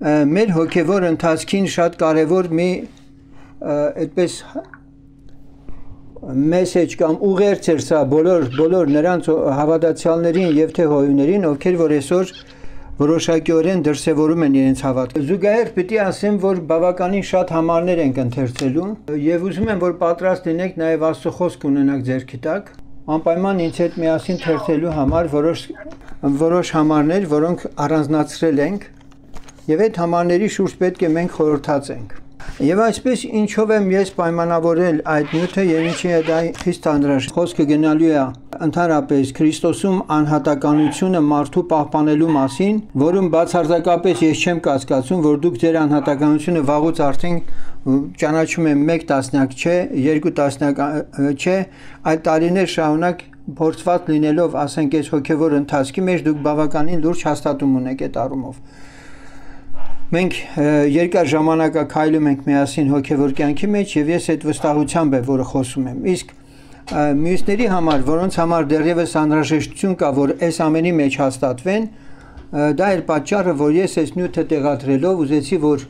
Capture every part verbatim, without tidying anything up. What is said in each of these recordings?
մեր հոգևոր ընթացքին շատ կարևոր մի այդպես մեսեջ կամ ուղերձ էր սա բոլոր բոլոր նրանց հավատացյալներին եւ թե հովիվներին, ովքեր որ այսօր որոշակիորեն դրսևորում են իրենց հավատքը։ Զուգահեռ պիտի ասեմ, որ բավականին շատ համարներ ենք ընթերցելու եւ ուզում եմ, որ պատրաստ լինեք նաեւ Աստծո խոսք ունենաք ձեռքի տակ, անպայման ինձ հետ միասին թերթելու համար որոշ որոշ համարներ, որոնք առանձնացրել ենք եւ այդ համարների շուրջ պետք է մենք խորհրդացենք։ Եվ այսպես ինչով եմ ես պայմանավորել այդ նյութը եւ ինչի է դա խիստ անհրաժեշտ։ Խոսքը գնալու է ընդհանրապես Քրիստոսում անհատականությունը մարդու պահպանելու մասին, որում բացարձակապես ես չեմ կասկածում, որ դուք ձեր անհատականությունը վաղուց արդեն ճանաչում եմ մեկ տասնյակ չէ, երկու տասնյակ չէ, այդ տարիներ շարունակ փորձված լինելով, ասենք, այս հոգևոր ընթացքի մեջ դուք բավականին լուրջ հաստատում ունեք այդ առումով։ Մենք երկար ժամանակակայլում ենք միասին հոգևոր կյանքի մեջ եւ ես այդ վստահությամբ եմ, որը խոսում եմ։ Իսկ մյուսների համար, որոնց համար դեռևս անհրաժեշտություն կա, որ այս ամենի մեջ հաստատվեն, դա էր պատճառը, որ ես այս նյութը տեղադրելով ուզեցի, որ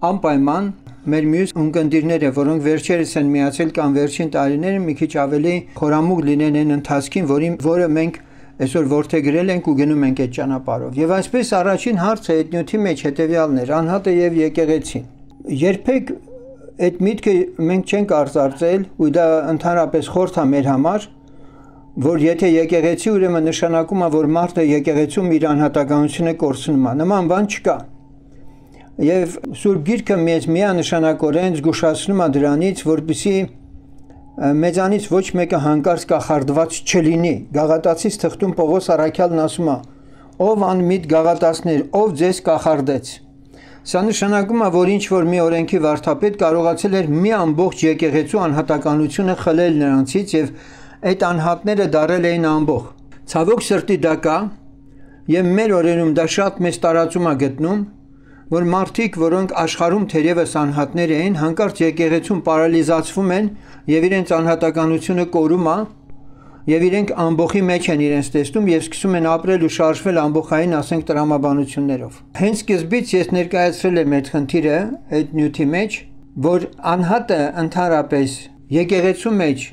անպայման մեր մյուս ունկնդիրները, որոնք վերջերս են միացել կամ վերջին տարիները մի քիչ ավելի խորամուկ լինեն այն ընթացքին, որի որը մենք այսօր որդեգրել ենք ու գնում ենք այդ ճանապարհով։ Եվ այսպես առաջին հարցը այդ նյութի մեջ հետևյալն էր՝ անհատը եւ եկեղեցին։ Երբեք այդ միտքը մենք չենք արծարծել, ու դա ընդհանրապես խորհուրդ է մեր համար, որ եթե եկեղեցի, ուրեմն նշանակում է, որ մարդը եկեղեցում իր անհատականությունը կորցնում է։ Նման բան չկա։ Եվ Սուրբ Գիրքը մեզ միանշանակորեն զգուշացնում է դրանից, որպեսզի մեզանից ոչ մեկը հանկարծ կախարդված չլինի։ Գաղատացիս թղթում Պողոս առաքյալն ասում է. «Ով անմիտ գաղատացիներ, ով ձեզ կախարդեց»։ Սա նշանակում է, որ ինչ որ մի օրենքի վարդապետ կարողացել էր մի ամբողջ եկեղեցու անհատականությունը խլել նրանցից եւ այդ անհատները դարել էին ամբողջ։ Ցավոք սրտի դա կա եւ մեր օրերում դա շատ մեծ տարածում է գտնում, որ մարդիկ, որոնք աշխարհում թերևս անհատներ էին, հանկարծ եկեղեցում պարալիզացվում են եւ իրենց անհատականությունը կորում է եւ իրենք ամբողջի մեջ են իրենց տեսնում եւ սկսում են ապրել ու շարժվել ամբողջային, ասենք, տրամաբանություններով։ Հենց սկզբից ես ներկայացրել եմ այդ խնդիրը այդ նյութի մեջ, որ անհատը ընդհանրապես եկեղեցու մեջ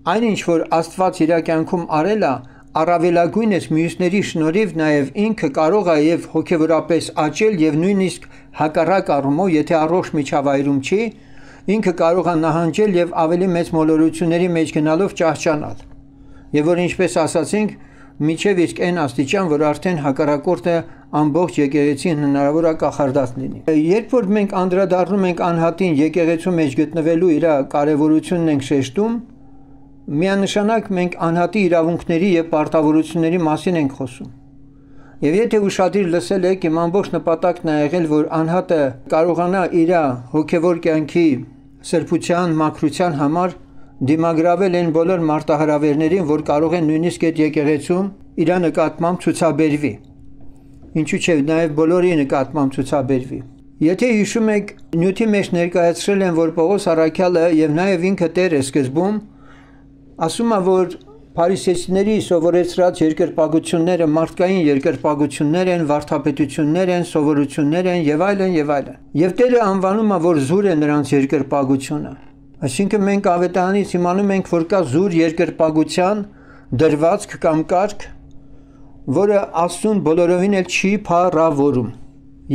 այնինչ որ Աստված իր կյանքում արել է, առավելագույնս մյուսների շնորհիվ նաև ինքը կարող է եւ հոգեվորապես աճել եւ նույնիսկ հակառակ առումով, եթե առողջ միջավայրում չի, ինքը կարող է նահանջել եւ ավելի մեծ մոլորությունների մեջ գնալով ճահճանալ։ Եվ որ ինչպես ասացինք, միջև իսկ այն աստիճան, որ արդեն հակառակորդը ամբողջ եկեղեցին հնարավոր է կախարդած լինի։ Երբ որ մենք անդրադառնում ենք անհատին եկեղեցու մեջ գտնվելու իր կարևորությունն ենք շեշտում, միանշանակ մենք անհատի իրավունքների եւ պարտավորությունների մասին ենք խոսում։ Եվ եթե ուշադիր լսել եք, իմ ամբողջ նպատակն է եղել, որ անհատը կարողանա իր հոգևոր կյանքի սրբության, մաքրության համար դիմագրավել այն բոլոր մարտահրավերներին, որ կարող են նույնիսկ այդ եկեղեցում իր նկատմամբ ցուցաբերվի։ Ինչու՞ չէ, նաեւ բոլորի նկատմամբ ցուցաբերվի։ Եթե հիշում եք, նյութի մեջ ներկայացրել են, որ Պողոս առաքյալը եւ նաեւ ինքը Տերը սկզբում ասում է, որ փարիսեցիների սովորեցրած երկրպագությունները մարդկային երկրպագություններ են, վարդապետություններ են, սովորություններ են եւ այլն եւ այլն։ Եվ Տերը անվանում է, որ զուր է նրանց երկրպագությունը։ Այսինքն մենք ավետարանից իմանում ենք, որ կա զուր երկրպագության դրվածք կամ կարգ, որը Աստծուն բոլորովին էլ չի փառավորում։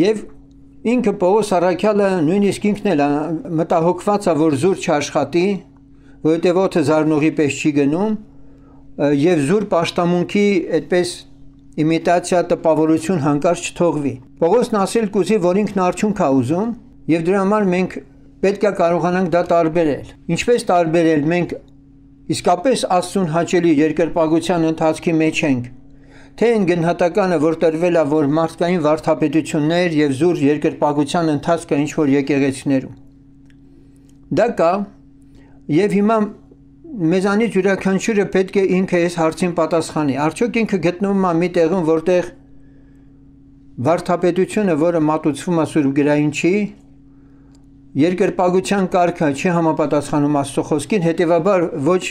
Եվ ինքը Պողոս առաքյալը նույնիսկ ինքն էլ մտահոգված է, որ զուր չաշխատի, որովհետև օդը զարնողի պես չի գնում եւ զուր պաշտամունքի այդպես իմիտացիա տպավորություն հանկարծ չթողվի։ Պողոսն ասել կուզի, որ ինքն արդյունք է ուզում եւ դրա համար մենք պետք է կարողանանք դա տարբերել։ Ինչպես տարբերել, մենք իսկապես Աստծուն հաճելի երկրպագության ընթացքի մեջ ենք, թե այն գնահատականը, որ տրվել է, որ մարդկային վարդապետություններ եւ զուր երկրպագության ընթացքը ինչ որ եկեղեցիներում։ Դա կա եւ հիմա մեզանից յուրաքանչյուրը պետք է ինքը այս հարցին պատասխանի։ Արդյոք ինքը գտնվում է մի տեղում, որտեղ վարդապետությունը, որը մատուցվում է Սուրբ գրային չի, երկրպագության կարգը չի համապատասխանում Աստծո խոսքին, հետեւաբար ոչ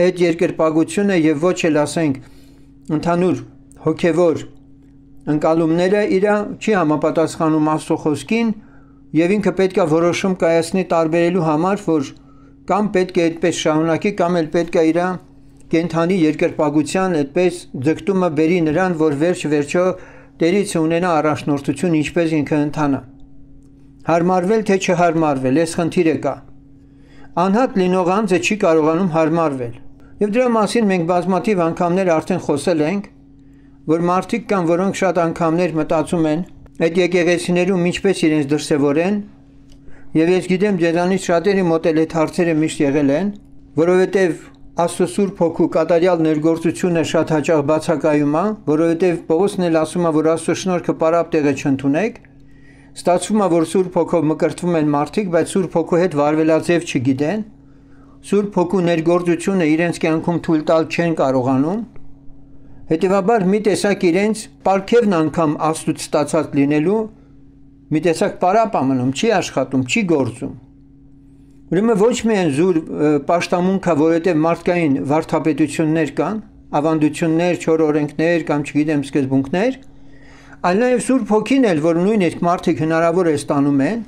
այդ երկրպագությունը եւ ոչ էլ ասենք ընդհանուր հոգեվոր ընկալումները իր չի համապատասխանում Աստծո խոսքին եւ ինքը պետք է որոշում կայացնի տարբերելու համար, որ կամ պետք է այդպես շարունակի, կամ էլ պետք է իր կենթանի երկրպագության այդպես ձգտումը բերի նրան, որ վերջ վերջո Տերից ունենա առաջնորդություն, ինչպես ինքը ընթանա։ Հարմարվել թե չհարմարվել, այս խնդիրը կա։ Անհատ լինող անձը չի կարողանում հարմարվել։ Եվ դրա մասին մենք բազմաթիվ անգամներ արդեն խոսել ենք, որ մարդիկ կան, որոնք շատ անգամներ մտածում են այդ եկեղեցիներում ինչպես իրենց դրսևորեն, եւ ես գիտեմ ձեզանից շատերի մոտ էլ այդ հարցերը միշտ եղել են, որովհետեւ Աստծո Սուրբ Հոգու կատարյալ ներգործությունը շատ հաճախ բացակայում է, որովհետեւ Պողոսն էլ ասում է, որ Աստծո շնորհքը պարապ տեղը չընդունեք, ստացվում է, որ Սուրբ Հոգով մկրտվում են մարդիկ, բայց Սուրբ Հոգու հետ վարվելաձև չգիտեն, Սուրբ Հոգու ներգործությունը իրենց կյանքում թույլ տալ չեն կարողանում, հետևաբար մի տեսակ իրենց պարգևն անգամ Աստծուց ստացած լինելու մի տեսակ պարապ ամնում, չի աշխատում, չի գործում։ Ուրեմն ոչ միայն զուր պաշտամունքա, որովհետև մարդկային վարդապետություններ կան, ավանդություններ, չոր օրենքներ կամ չգիտեմ սկզբունքներ, այլ նաև Սուրբ Հոգին էլ, որ նույն այդ մարդիկ հնարավոր է ստանում են,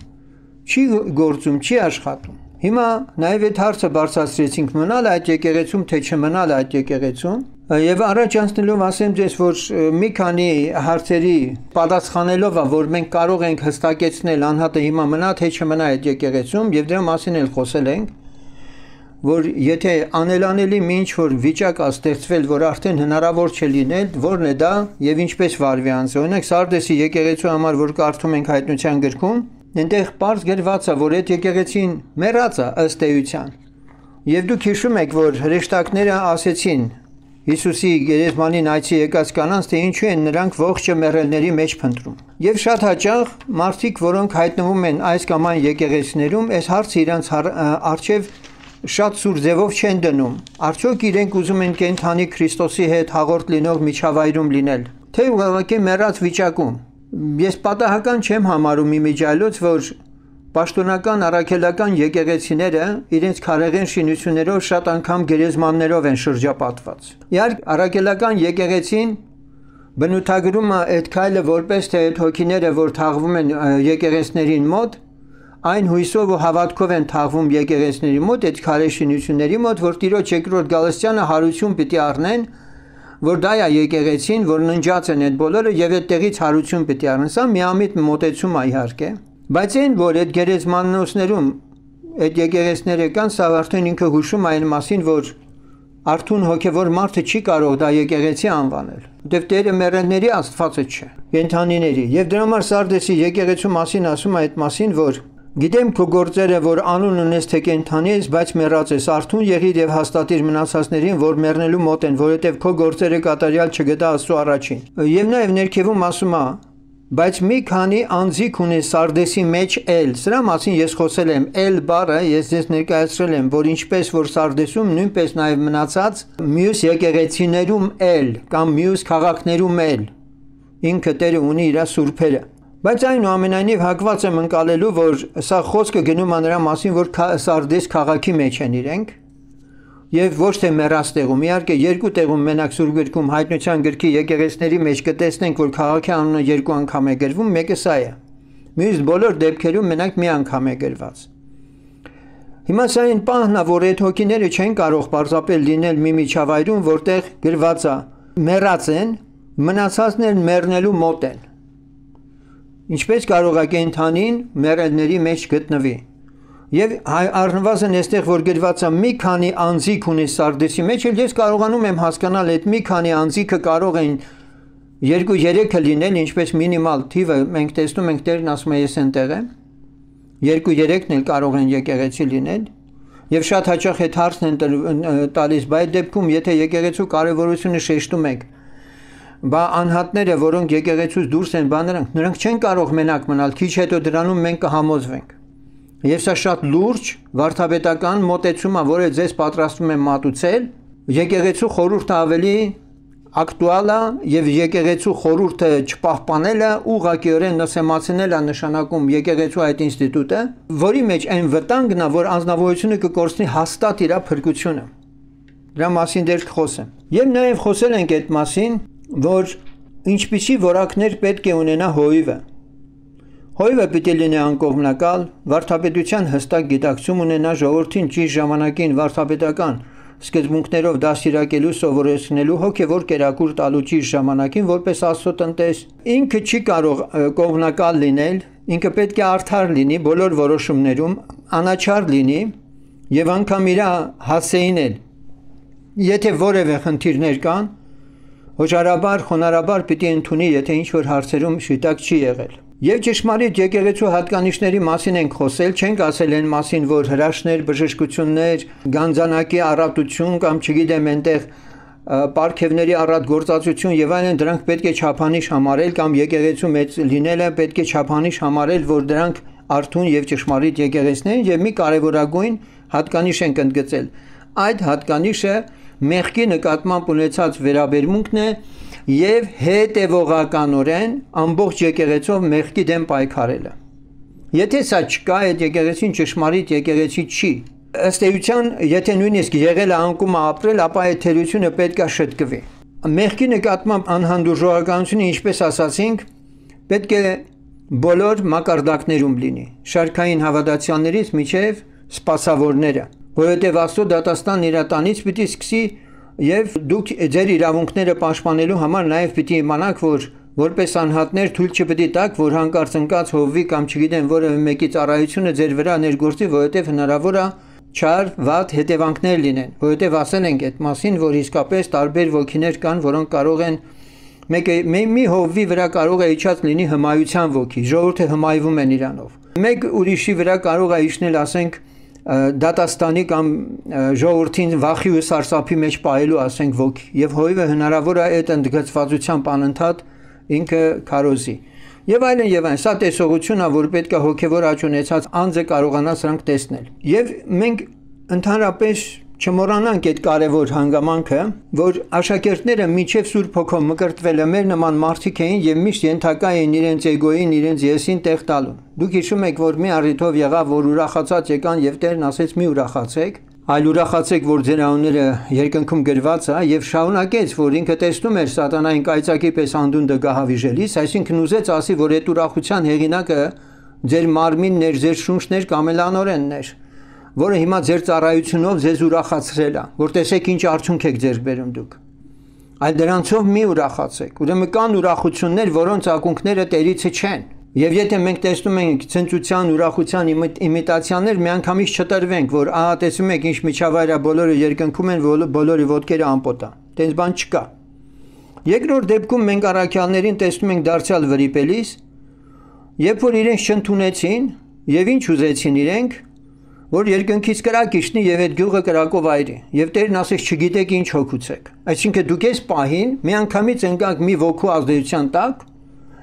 չի գործում, չի աշխատում։ Հիմա նաև այդ հարցը բարձրացրեցինք մնալ այդ եկեղեցում, թե չմնալ այդ եկեղեցում, եւ առաջ անցնելով ասեմ ձեզ, որ մի քանի հարցերի պատասխանելով, որ մենք կարող ենք հստակեցնել անհատը հիմա մնա թե չմնա այդ եկեղեցում, եւ դրա մասին էլ խոսել ենք, որ եթե անելանելի մի ինչ-որ վիճակ է ստեղծվել, որ արդեն հնարավոր չէ լինել, որն է դա եւ ինչպես վարվի անձը։ Օրինակ Սարդեսի եկեղեցու համար, որ կարդում ենք Հայտնության գրքում, այնտեղ պարզ գրված է, որ այդ եկեղեցին մեռած է ըստ էության։ Եվ դուք հիշում եք, որ հրեշտակները ասեցին Հիսուսի գերեզմանին այցի եկած կանանց, թե ինչու են նրանք ողջը մեռելների մեջ փնտրում։ Եվ շատ հաճախ մարդիկ, որոնք հայտնվում են այս կամ այն եկեղեցիներում, այս հարցը իրանց առջև շատ սուր ձևով չեն դնում։ Արդյոք իրենք ուզում են կենթանի Քրիստոսի հետ հաղորդ լինող միջավայրում լինել, թե ուղղակի մեռած վիճակում։ Ես պատահական չեմ համարում իմիջիայլոց, որ պաշտոնական առաքելական եկեղեցիները իրենց քարեղեն շինություններով շատ անգամ գերեզմաններով են շրջապատված։ Իհարկե առաքելական եկեղեցին բնութագրում է այդ քայլը որպես թե այդ հոգիները, որ թաղվում են եկեղեցիներին մոտ, այն հույսով ու հավատքով են թաղվում եկեղեցիների մոտ, այդ քարե շինությունների մոտ, որ Տիրոջ երկրորդ գալստյանը հարություն պիտի առնեն, որ դա է եկեղեցին, որ ննջած են այդ բոլորը եւ այդտեղից հարություն պիտի առնեն։ Սա միամիտ մոտեցում է իհարկե, բայց այն, որ այդ գերեզմանոցներում այդ եկեղեցիները կան, սա արդեն ինքը հուշում է այն մասին, որ արթուն հոգևոր մարդը չի կարող դա եկեղեցի անվանել, որտեղ Տերը մեռելների Աստվածը չէ, կենդանիների։ Եվ դրա համար Սարդեսի եկեղեցու մասին ասում է այդ մասին, որ գիտեմ քո գործերը, որ անուն ունես թե կենդանի ես, բայց մեռած ես, արթուն եղիր եւ հաստատիր մնացածներին, որ մեռնելու մոտ են, որովհետեւ քո գործերը կատարյալ չգտա Աստծո առաջին։ Եվ նաեւ ներքևում ասում է, բայց մի քանի անձիկ ունի Սարդեսի մեջ էլ, սրա մասին ես խոսել եմ, էլ բառը ես ձեզ ներկայացրել եմ, որ ինչպես որ Սարդեսում, նույնպես նաեւ մնացած մյուս եկեղեցիներում էլ կամ մյուս քաղաքներում էլ ինքը Տերը ունի իր սուրբերը։ Բայց այնուամենայնիվ հակված եմ ընկալելու, որ սա խոսքը գնում է նրա մասին, որ Սարդես քաղաքի մեջ են իրենք եւ ոչ թե մեռած տեղում։ Իհարկե երկու տեղում մենակ Սուրբ գրքում Հայտնության գրքի եկեղեցիների մեջ կտեսնենք, որ քաղաքի անունը երկու անգամ է գրվում, մեկը սա է։ Մյուս բոլոր դեպքերում մենակ մի անգամ է գրված։ Հիմա սա այն պահն է, որ այդ հոգիները չեն կարող պարզապես լինել մի միջավայրում, որտեղ գրված է մեռած են, մնացածներն մեռնելու մոտ են։ Ինչպես կարող է կենդանին մեռելների մեջ գտնվի։ Եվ առնվազն այստեղ որ գրված է մի քանի անձիկ ունի Սարդեսի մեջ, էլ ես կարողանում եմ հասկանալ այդ մի քանի անձիկը կարող են երկու երեքը լինել, ինչպես մինիմալ թիվը մենք տեսնում ենք Տերն ասում է ես այնտեղ եմ։ Երկու երեքն էլ կարող են եկեղեցի լինել։ Եվ շատ հաճախ այդ հարցն են տալիս, բայց դեպքում եթե եկեղեցու կարևորությունը շեշտում եք, բա անհատները, որոնք եկեղեցուց դուրս են, բա նրանք, նրանք չեն կարող մենակ մնալ, քիչ հետո դրանում մենք կհամոզվենք։ Եվ սա շատ լուրջ վարդապետական մոտեցում է, որը ձեզ պատրաստում եմ մատուցել, եկեղեցու խորհուրդը ավելի ակտուալ է եւ եկեղեցու խորհուրդը չպահպանելը ուղղակիորեն նսեմացնել է նշանակում եկեղեցու այդ ինստիտուտը, որի մեջ այն վտանգն է, որ անձնավորությունը կկորցնի հաստատ իր փրկությունը։ Դրա մասին դեռ կխոսեմ։ Եվ նաեւ խոսել ենք այդ մասին, որ ինչպիսի որակներ պետք է ունենա հովիվը։ Հովիվը պիտի լինի անկողմնակալ, վարդապետության հստակ գիտակցում ունենա, ժողովրդին ճիշտ ժամանակին վարդապետական սկզբունքներով դաստիարակելու, սովորեցնելու, հոգևոր կերակուր տալու ճիշտ ժամանակին որպես Աստծո տնտես։ Ինքը չի կարող կողմնակալ լինել, ինքը պետք է արդար լինի բոլոր որոշումներում, անաչառ լինի եւ անգամ իր հասեին էլ։ Եթե որևէ խնդիրներ կան, հոժարաբար, խոնարհաբար պիտի ընդունի, եթե ինչ-որ հարցերում շիտակ չի եղել։ Եվ ճշմարիտ եկեղեցու հատկանիշների մասին ենք խոսել, չենք ասել այն մասին, որ հրաշներ, բժշկություններ, գանձանակի առատություն կամ չգիտեմ այնտեղ պարգևների առատ գործածություն եւ այլն, դրանք պետք է չափանիշ համարել կամ եկեղեցու մեծ լինելը պետք է չափանիշ համարել, որ դրանք արթուն եւ ճշմարիտ եկեղեցիներ եւ մի կարեւորագույն հատկանիշ ենք ընդգծել։ Այդ հատկանիշը մեղքի նկատմամբ ունեցած վերաբերմունքն է եւ հետեւողականորեն ամբողջ եկեղեցով մեղքի դեմ պայքարելը։ Եթե սա չկա, այդ եկեղեցին ճշմարիտ եկեղեցի չի։ Ըստ էության, եթե նույնիսկ եղել է անկումը ապրել, ապա այդ թերությունը պետք է շտկվի։ Մեղքի նկատմամբ անհանդուրժողականությունը, ինչպես ասացինք, պետք է բոլոր մակարդակներում լինի, շարքային հավատացյալներից մինչև սպասավորները, որովհետև Աստծո դատաստան իր տանից պիտի սկսի եւ դուք ձեր իրավունքները պաշտպանելու համար նաեւ պիտի իմանաք, որ որպես անհատներ թույլ չպետք է տաք, որ հանկարծ ընկած հովվի կամ չգիտեմ որևէ մեկի ծառայությունը ձեր վրա ներգործի, որովհետև հնարավոր է չար վատ հետևանքներ լինեն, որովհետև ասել ենք այդ մասին, որ իսկապես տարբեր ոգիներ կան, որոնք կարող են մեկը մի հովվի վրա կարող է իջած լինի հմայության ոգի, ժողովուրդը հմայվում են իրանով։ Մեկ ուրիշի վրա կարող է իջնել, ասենք, դատաստանի կամ ժողովրդին վախի ու սարսափի մեջ պահելու, ասենք, ոգի, եւ հովիվը հնարավոր է այդ ընդգծվածությամբ անընդհատ ինքը քարոզի։ Եվ այլն եւ այլն, սա տեսողությունն է, որ պետք է հոգեվոր աճ ունեցած անձը կարողանա սրանք տեսնել։ Եվ մենք ընդհանրապես չմոռանանք այդ կարևոր հանգամանքը, որ աշակերտները միջև Սուրբ Հոգով մկրտվելը մեր նման մարդիկ էին եւ միշտ ենթակա էին իրենց էգոյին, իրենց եսին տեղ տալուն։ Դուք հիշում եք, որ մի առիթով եղավ, որ ուրախացած եկան եւ Տերն ասեց՝ մի ուրախացեք, այլ ուրախացեք, որ ձեր անունները երկնքում գրված է, եւ շարունակեց, որ ինքը տեսնում էր սատանային կայծակի պես անդունդը գահավիժելիս, այսինքն ուզեց ասի, որ այդ ուրախության հեղինակը ձեր մարմինն էր, ձեր շունչն էր կամ էլ անօրենն էր, որը հիմա ձեր ծառայությունով ձեզ ուրախացրել է, որ տեսեք ինչ արդյունք եք ձեր բերում դուք։ Այլ դրանցով մի ուրախացեք։ Ուրեմն կան ուրախություններ, որոնց ակունքները Տերիցը չեն։ Եվ եթե մենք տեսնում ենք ցնծության, ուրախության իմիտացիաներ, միանգամից չտրվենք, որ ահա տեսնում եք ինչ միջավայր է, բոլորը երկնքում են, բոլորի ոտքերը ամպոտ են։ Տենց բան չկա։ Երկրորդ դեպքում մենք առաքյալներին տեսնում ենք դարձյալ վրիպելիս, երբ որ իրենց չընդունեցին, եւ ինչ ուզեցին իրենք, որ երկնքից կրակ իջնի եւ այդ գյուղը կրակով այրի։ Եվ Տերն ասեց՝ չգիտեք ինչ հոգուցեք։ Այսինքն դուք այս պահին միանգամից ընկաք մի ոգու ազդեցության տակ,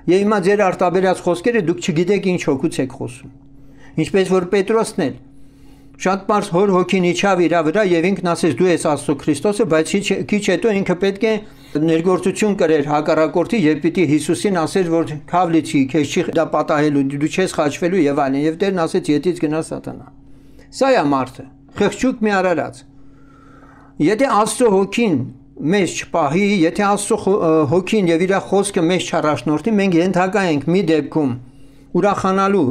եւ հիմա ձեր արտաբերած խոսքերը դուք չգիտեք ինչ հոգուց եք խոսում։ Ինչպես որ Պետրոսն էլ շատ པարզ հոր հոգին իջավ իր վրա եւ ինքն ասեց՝ դու ես Աստծո Քրիստոսը, բայց քիչ հետո ինքը պետք է ներգործություն կրեր հակառակորդի եւ պիտի Հիսուսին ասեր, որ քավլիցի, քեզ չի դա պատահելու, դու չես խաչվելու եւ այլն։ Եվ Տերն ասեց՝ ետից գնա սատանա։ Սա է մարդը, խղճուկ մի արարած։ Եթե Աստծո հոգին մեզ չպահի, եթե Աստծո հոգին եւ իր խոսքը մեզ չառաջնորդի, մենք ենթակա ենք մի դեպքում ուրախանալու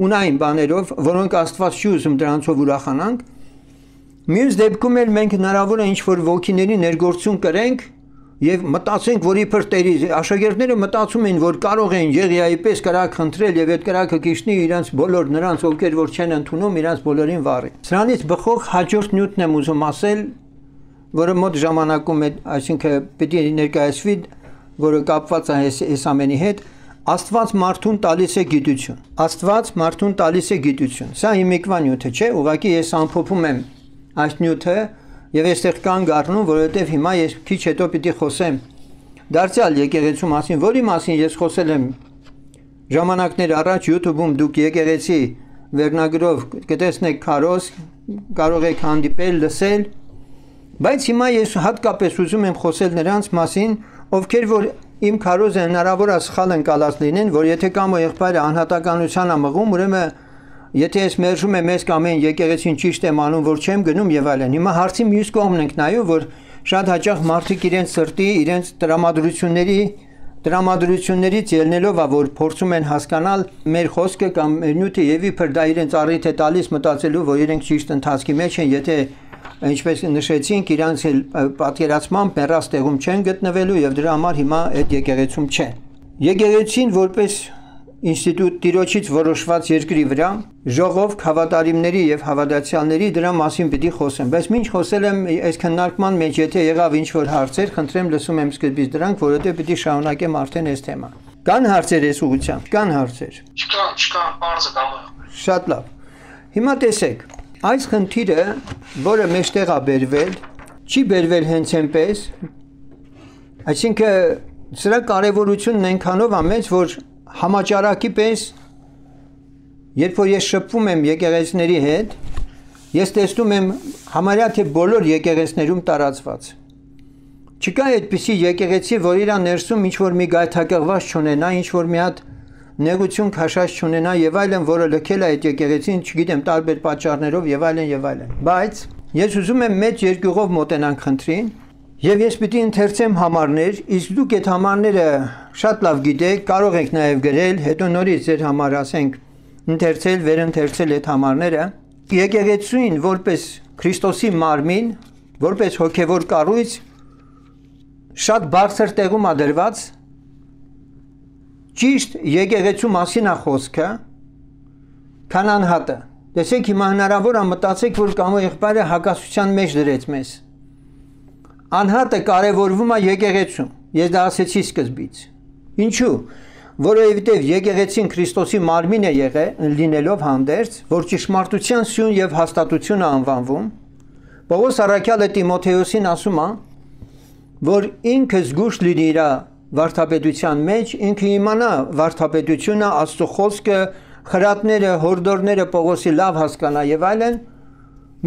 ունային բաներով, որոնք Աստված չի ուզում դրանցով ուրախանանք, մյուս դեպքում էլ մենք հնարավոր է ինչ-որ ոգիների ներգործություն կրենք եւ մտածենք, որ իբր Տերի աշակերտները մտածում են, որ կարող են Եղիայի պես կրակ խնդրել եւ այդ կրակը կիշնի իրենց բոլոր նրանց, ովքեր որ չեն ընդունում, իրենց բոլորին վառի։ Սրանից բխող հաջորդ նյութն եմ ուզում ասել, որը մոտ ժամանակում է, այսինքն պիտի ներկայացվի, որը կապված է այս ամենի հետ, Աստված մարդուն տալիս է գիտություն։ Աստված մարդուն տալիս է գիտություն։ Սա հիմիկվա նյութը չէ, ուղղակի ես ամփոփում եմ այս նյութը եւ այստեղ կանգ առնում, որովհետեւ հիմա ես քիչ հետո պիտի խոսեմ դարձյալ եկեղեցու մասին, որի մասին ես խոսել եմ ժամանակներ առաջ YouTube-ում դուք եկեղեցի վերնագրով կտեսնեք քարոզ, կարող եք հանդիպել, լսել, բայց հիմա ես հատկապես ուզում եմ խոսել նրանց մասին, ովքեր որ իմ քարոզը հնարավոր է սխալ ընկալած լինեն, որ եթե կամ եղբայրը անհատականության է մղում, ուրեմն եթե ես մերժում եմ ես կամ այն եկեղեցին ճիշտ եմ անում, որ չեմ գնում եւ այլն։ Հիմա հարցի մյուս կողմն ենք նայում, որ շատ հաճախ մարդիկ իրենց սրտի, իրենց տրամադրությունների տրամադրություններից ելնելով, որ փորձում են հասկանալ մեր խոսքը կամ մեր նյութը եւ իբր դա իրենց առիթ է տալիս մտածելու, որ իրենք ճիշտ ընթացքի մեջ են, եթե ինչպես նշեցինք, իրանց պատկերացմամբ մեռած տեղում չեն գտնվելու եւ դրա համար հիմա այդ եկեղեցում չեն։ Եկեղեցին որպես ինստիտուտ Տիրոջից որոշված երկրի վրա ժողով հավատարիմների եւ հավատացյալների դրա մասին պիտի խոսեմ, բայց ինչ խոսել եմ այս քննարկման մեջ, եթե եղավ ինչ որ հարցեր, խնդրեմ լսում եմ սկզբից դրանք, որովհետեւ պիտի շարունակեմ արդեն այս թեման։ Կան հարցեր այս ուղղությամբ, կան հարցեր։ Չկան, չկան, բարձր կամը։ Շատ լավ։ Հիմա տեսեք, այս խնդիրը, որը մեջտեղ է բերվել, չի բերվել հենց այնպես, այսինքն սրա կարևորությունն այնքանով է մեծ, որ համաճարակի պես, երբ որ ես շփվում եմ եկեղեցիների հետ, ես տեսնում եմ համարյա թե բոլոր եկեղեցիներում տարածված։ Չկա այդպիսի եկեղեցի, որ իր ներսում ինչ որ մի գայթակղված չունենա, ինչ որ մի հատ նեղություն քաշած չունենա եւ այլն, որը լքել է այդ եկեղեցին, չգիտեմ, տարբեր պատճառներով եւ այլն եւ այլն։ Բայց ես ուզում եմ մեծ երկյուղով մոտենանք խնդրին, եւ ես պիտի ընթերցեմ համարներ, իսկ դուք այդ համարները շատ լավ գիտեք, կարող եք նաեւ գրել, հետո նորից ձեր համար ասենք ընթերցել, վերընթերցել այդ համարները։ Եկեղեցին որպես Քրիստոսի մարմին, որպես հոգևոր կառույց շատ բարձր տեղում է դրված, ճիշտ եկեղեցու մասին է խոսքը, քան անհատը։ Տեսեք, հիմա հնարավոր է մտածեք, որ կամ եղբայրը հակասության մեջ դրեց մեզ։ Անհատը կարևորվում է եկեղեցում։ Ես դա ասեցի սկզբից։ Ինչու՞։ Որովհետև եկեղեցին Քրիստոսի մարմին է եղել, լինելով հանդերձ, որ ճշմարտության սյուն եւ հաստատություն է անվանվում։ Պողոս առաքյալը Տիմոթեոսին ասում է, որ ինքը զգուշ լինի իր վարդապետության մեջ, ինքը իմանա վարդապետությունը, Աստծո խոսքը, խրատները, հորդորները Պողոսի լավ հասկանա եւ այլն,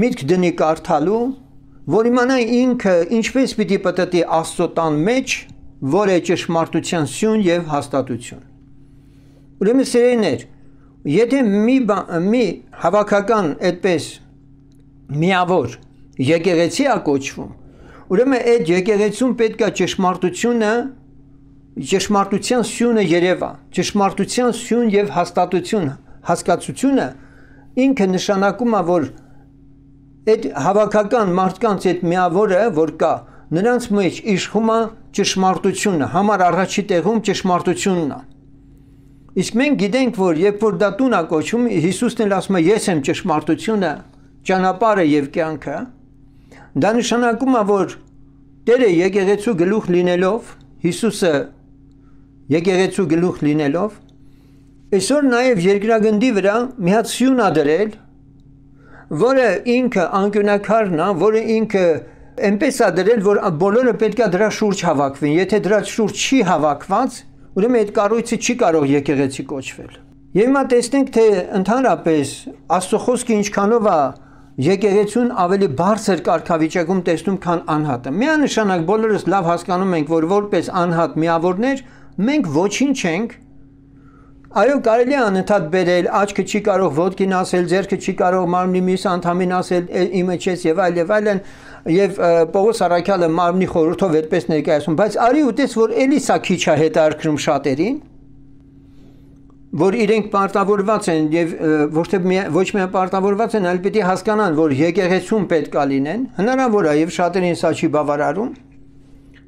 միտք դնի կարդալու, որ իմանա ինքը ինչպես պիտի պատտի Աստծո տան մեջ, որ է ճշմարտության սյուն եւ հաստատություն։ Ուրեմն սերեներ, եթե մի մի հավաքական այդպես միավոր եկեղեցի է կոչվում, ուրեմն այդ եկեղեցում պետք է ճշմարտությունը, ճշմարտության սյունը երևա, ճշմարտության սյուն եւ հաստատություն, հասկացությունը ինքը նշանակում է, որ այդ հավաքական մարդկանց այդ միավորը, որ կա, նրանց մեջ իշխում է ճշմարտությունը, համար առաջի տեղում ճշմարտությունն է։ Իսկ մենք գիտենք, որ երբ որ դա տուն է կոչվում, Հիսուսն էլ ասում է, ես եմ ճշմարտությունը, ճանապարհը եւ կյանքը, դա նշանակում է, որ Տերը եկեղեցու գլուխ լինելով, Հիսուսը եկեղեցու գլուխ լինելով, այսօր նաեւ երկրագնդի վրա մի հատ սյուն է դրել, որը ինքը անկյունակարն է, որը ինքը այնպես է դրել, որ բոլորը պետք է դրա շուրջ հավաքվեն։ Եթե դրա շուրջ չի հավաքված, ուրեմն այդ կառույցը չի կարող եկեղեցի կոչվել։ Եվ հիմա տեսնենք, թե ընդհանրապես Աստծո խոսքը ինչքանով է եկեղեցուն ավելի բարձր կարգավիճակում տեսնում, քան անհատը։ Միանշանակ բոլորս լավ հասկանում ենք, որ որպես անհատ միավորներ մենք ոչինչ չենք։ Այո, կարելի է անընդհատ բերել, աչքը չի կարող ոտքին ասել, ձեռքը չի կարող մարմնի մյուս անդամին ասել, իմը չես եւ այլ եւ այլն, եւ Պողոս առաքյալը մարմնի խորհրդով այդպես ներկայացում, բայց արի ու տես, որ էլի սա քիչ է հետարքրում շատերին, որ իրենք պարտավորված են եւ ոչ թե ոչ միայն պարտավորված են, այլ պիտի հասկանան, որ եկեղեցում պետք է լինեն, հնարավոր է եւ շատերին սա չի բավարարում։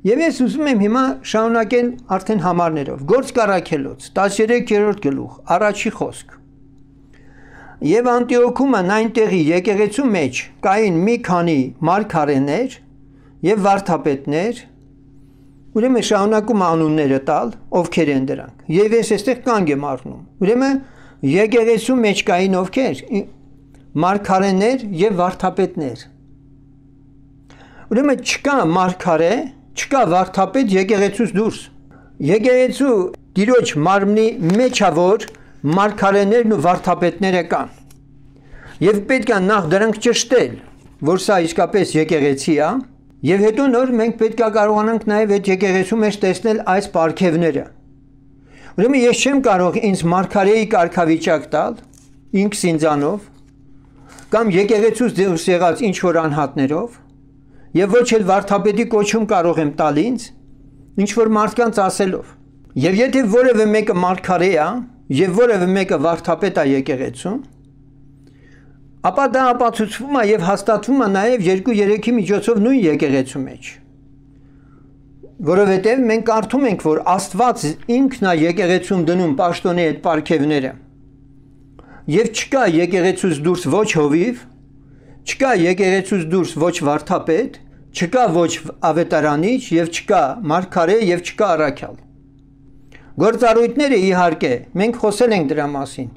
Եվ ես ուզում եմ հիմա շարունակել արդեն համարներով։ Գործք առաքելոց, տասներեքերորդ գլուխ, առաջի խոսք։ Եվ Անտիոքում այնտեղի եկեղեցու մեջ կային մի քանի մարգարեներ եւ վարդապետներ, ուրեմն շարունակում անունները տալ, ովքեր են դրանք։ Եվ ես այստեղ կանգ եմ առնում։ Ուրեմն եկեղեցու մեջ կային ովքեր, մարգարեներ եւ վարդապետներ։ Ուրեմն չկա մարգարե, չկա վարդապետ եկեղեցուց դուրս։ Եկեղեցու Տիրոջ մարմնի մեջ է, որ մարգարեներն ու վարդապետները կան։ Եվ պետք է նախ դրանք ճշտել, որ սա իսկապես եկեղեցի է, եւ հետո նոր մենք պետք է կարողանանք նաեւ այդ եկեղեցու մեջ տեսնել այս պարգևները։ Ուրեմն ես չեմ կարող ինձ մարգարեի կարգավիճակ տալ, ինքս ինձանով, կամ եկեղեցուց դուրս եղած ինչ որ անհատներով, եւ ոչ էլ վարդապետի կոչում կարող եմ տալ ինձ, ինչ որ մարդկանց ասելով։ Եվ եթե որևէ մեկը մարգարե է, եւ որևէ մեկը վարդապետ է եկեղեցում, ապա դա ապացուցվում է եւ հաստատվում է նաեւ երկու երեքի միջոցով նույն եկեղեցու մեջ։ Որովհետեւ մենք կարդում ենք, որ Աստված ինքն է եկեղեցում դնում պաշտոնի այդ պարգևները։ Եվ չկա եկեղեցուց դուրս ոչ հովիվ, չկա եկեղեցուց դուրս ոչ վարդապետ, չկա ոչ ավետարանիչ եւ չկա մարգարե եւ չկա առաքյալ։ Գործառույթները իհարկե մենք խոսել ենք դրա մասին,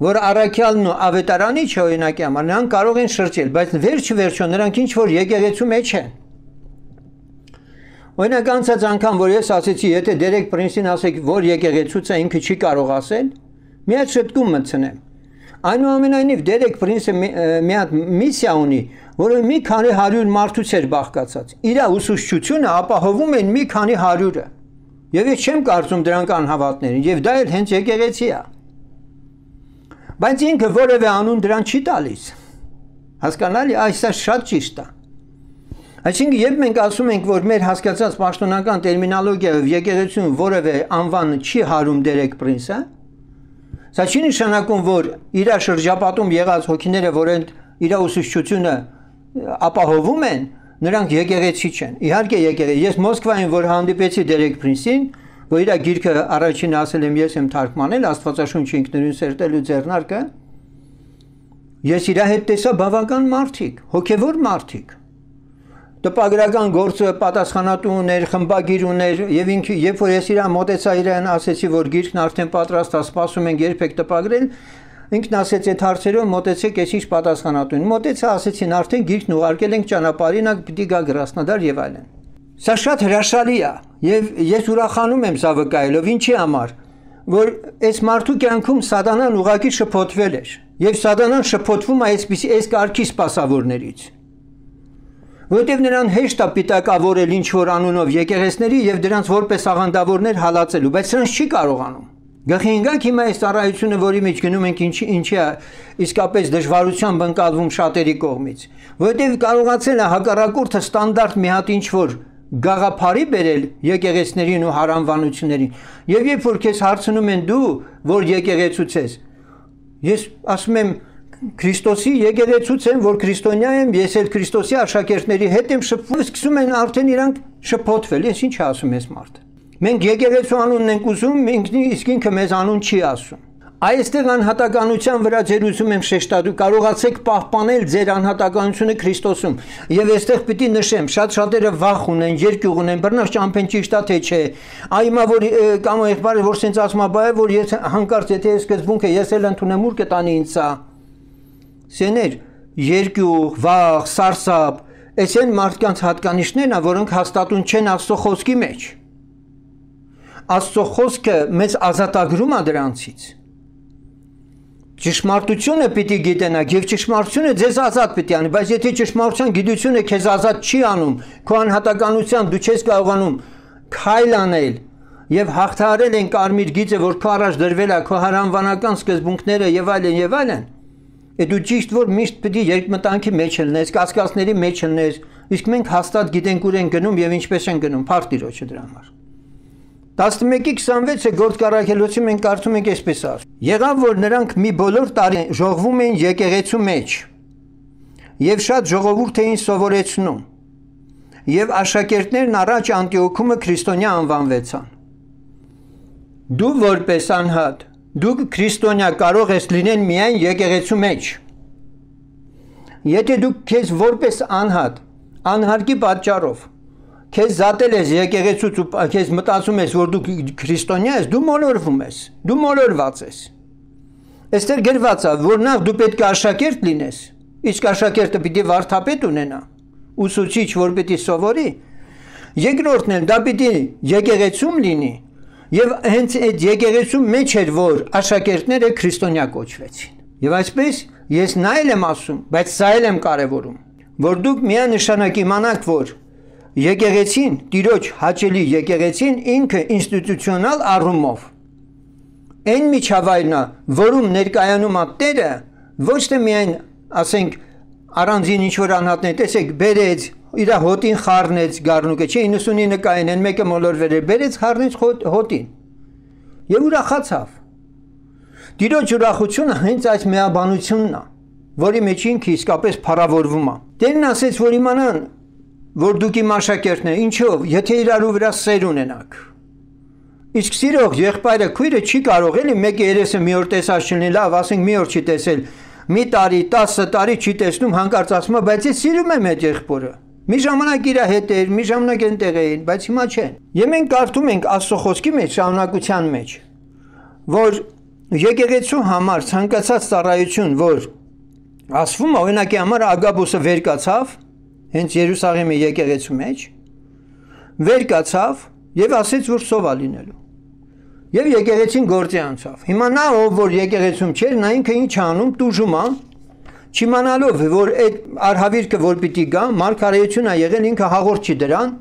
որ առաքյալն ու ավետարանիչը օրինակի համար նրանք կարող են շրջել, բայց վերջ վերջո նրանք ինչ որ եկեղեցու մեջ են։ Օրինակ անցած անգամ որ ես ասեցի, եթե Դերեկ Պրինսին ասեք, որ եկեղեցուց է, ինքը չի կարող ասել, մի հատ շտկում մտցնեմ։ Այնուամենայնիվ Դերեկ Պրինսը մի հատ միսիա ունի, որը մի քանի հարյուր մարդուց էր բաղկացած։ Իր ուսուցչությունը ապահովում են մի քանի հարյուրը։ Եվ ես չեմ կարծում դրանք անհավատներին, եւ դա էլ հենց եկեղեցի է։ Բայց ինքը որևէ անուն դրան չի տալիս։ Հասկանալի, այսա շատ ճիշտ է։ Այսինքն, երբ մենք ասում ենք, որ մեր հասկացած պաշտոնական տերմինոլոգիայով եկեղեցուն որևէ անվան չի հարում Դերեկ Պրինսը, սա չի նշանակում, որ իր շրջապատում եղած հոգիները, որոնք իր ուսուցչությունը ապահովում են, նրանք եկեղեցի չեն։ Իհարկե եկեղեցի։ Ես Մոսկվայում որ հանդիպեցի Դերեկ Պրինսին, որ իր գիրքը առաջին ասել եմ ես եմ թարգմանել Աստվածաշունչի ինքնուրույն սերտելու ձեռնարկը, ես իր հետ տեսա բավական մարդիկ, հոգևոր մարդիկ։ Տպագրական գործը պատասխանատու ուներ, խմբագիր ուներ, եւ ինքը երբ որ ես իրան մոտեցա իրան ասեցի, որ գիրքն արդեն պատրաստ է, սպասում ենք երբ եք տպագրել, ինքն ասեց այդ հարցերով մոտեցեք ես ինչ պատասխանատուն։ Մոտեցա ասեցին արդեն գիրքն ուղարկել ենք ճանապարհին, պիտի գա Գրասնոդար եւ այլն։ Սա շատ հրաշալի է եւ ես ուրախանում եմ սա վկայելով, ինչի համար, որ այս մարդու կյանքում սատանան ուղակի շփոթվել էր եւ սատանան շփոթվում է այսպիսի այս կարգի սպասավորներից։ Որտեւ նրան հեշտ է պիտակավորել ինչ որ անունով եկեղեցների եւ դրանց որպես աղանդավորներ հալածելու, բայց նրանց չի կարողանում։ Գլխի ընկեք հիմա այս ծառայությունը, որի մեջ գնում ենք, ինչի ինչի է իսկապես դժվարությամբ ընկալվում շատերի կողմից, որովհետև կարողացել է հակառակորդը ստանդարտ մի հատ ինչ որ գաղափարի բերել եկեղեցներին ու հարանվանություններին, եւ երբ որ քեզ հարցնում են դու որ եկեղեցուց ես, ես ասում եմ Քրիստոսի եկեղեցուց եմ, որ քրիստոնյա եմ, ես էլ Քրիստոսի աշակերտների հետ եմ շփվում, սկսում են արդեն իրանք շփոթվել, ես ինչ ասում ես մարդ։ Մենք եկեղեցու անունն ենք ուզում, մենք իսկ ինքը մեզ անուն չի ասում։ Այստեղ անհատականության վրա ձեր ուզում եմ շեշտադրել, կարողացեք պահպանել ձեր անհատականությունը Քրիստոսում։ Եվ այստեղ պիտի նշեմ, շատ շատերը վախ ունեն, երկյուղ ունեն, բռնած ճամփեն ճիշտ է թե չէ։ Այ հիմա որ կամ եղբայրը որ սենց ասում է, բայ որ ես հանկարծ եթե ես սկզբունքը ես էլ ընդունեմ ուր կտանի ինձ սա։ Սեներ, երկյուղ, վախ, սարսափ, այս են մարդկանց հատկանիշներն են, որոնք հաստատուն չեն Աստծո խոսքի մեջ։ Աստծո խոսքը մեզ ազատագրում է դրանցից։ Ճշմարտությունը պիտի գիտենաք եւ ճշմարտությունը ձեզ ազատ պիտի անի, բայց եթե ճշմարտության գիտությունը քեզ ազատ չի անում, քո անհատականությամբ դու չես կարողանում քայլ անել եւ հաղթահարել են կարմիր գիծը, որ քո առաջ դրվել է, քո հարանվանական սկզբունքները եւ այլն եւ այլն։ Է դու ճիշտ որ միշտ պիտի երկմտանքի մեջ լինես, կասկածների մեջ լինես, իսկ մենք հաստատ գիտենք ուր են գնում եւ ինչպես են գնում, փառք Տիրոջը դրա համար։ տասնմեկի քսանվեցը գործկառակելոցի մենք կարծում ենք այսպես ասում։ Եղավ որ նրանք մի բոլոր տարի ժողվում էին եկեղեցու մեջ եւ շատ ժողովուրդ էին սովորեցնում եւ աշակերտներն առաջ Անտիոքումը քրիստոնյա անվանվեցան։ Դու որպես անհատ դու քրիստոնյա կարող ես լինել միայն եկեղեցու մեջ։ Եթե դու քեզ որպես անհատ անհարկի պատճառով քեզ զատել ես եկեղեցուց ու քեզ մտածում ես որ դու քրիստոնյա ես, դու մոլորվում ես, դու մոլորված ես։ Այստեղ գրված է որ նախ դու պետք է աշակերտ լինես, իսկ աշակերտը պիտի վարդապետ ունենա, ուսուցիչ որ պիտի սովորի։ Երկրորդն էլ դա պիտի եկեղեցում լինի։ Եվ հենց այդ եկեղեցու մեջ էր որ աշակերտները քրիստոնյա կոչվեցին։ Եվ այսպես ես նա էլ եմ ասում, բայց սա էլ եմ կարևորում, որ դուք միանշանակ իմանաք, որ եկեղեցին, Տիրոջ հաճելի եկեղեցին ինքը ինստիտուցիոնալ առումով այն միջավայրն է, որում ներկայանում է Տերը, ոչ թե միայն, ասենք, առանձին ինչ-որ անհատներ, տեսեք, բերեց, իր հոտին խառնեց գառնուկը, չէ իննսունինը կային, են մեկը մոլորվել էր, բերեց խառնեց հոտին։ եւ ուրախացավ։ Տիրոջ ուրախությունը հենց այս միաբանությունն է, որի մեջ ինքը իսկապես փառավորվում է։ Տերն ասեց, որ իմանան, որ դուք իմ աշակերտներ, ինչով, եթե իրարու վրա սեր ունենաք։ Իսկ սիրող եղբայրը քույրը չի կարող էլի մեկ երեսը մի օր տեսած չլինի, լավ, ասենք մի օր չի տեսել, մի տարի, տասը տարի չի տեսնում, հանկարծ ասում է, բայց ես սիրում եմ այդ եղբորը։ Մի ժամանակ իր հետ էր, մի ժամանակ այնտեղ էին, բայց հիմա չեն։ Եվ մենք կարդում ենք Աստծո խոսքի մեջ, շարունակության մեջ, որ եկեղեցու համար ցանկացած ծառայություն, որ ասվում է, օրինակի համար Ագաբոսը վեր կացավ, հենց Երուսաղեմի եկեղեցու մեջ, վեր կացավ եւ ասեց, որ սով է լինելու։ Եվ եկեղեցին գործի անցավ։ Հիմա նա, ով որ եկեղեցում չէր, նա ինքը ինչ անում, տուժում է, չիմանալով, որ այդ արհավիրքը որ պիտի գա, մարգարեություն է եղել, ինքը հաղորդ չի դրան,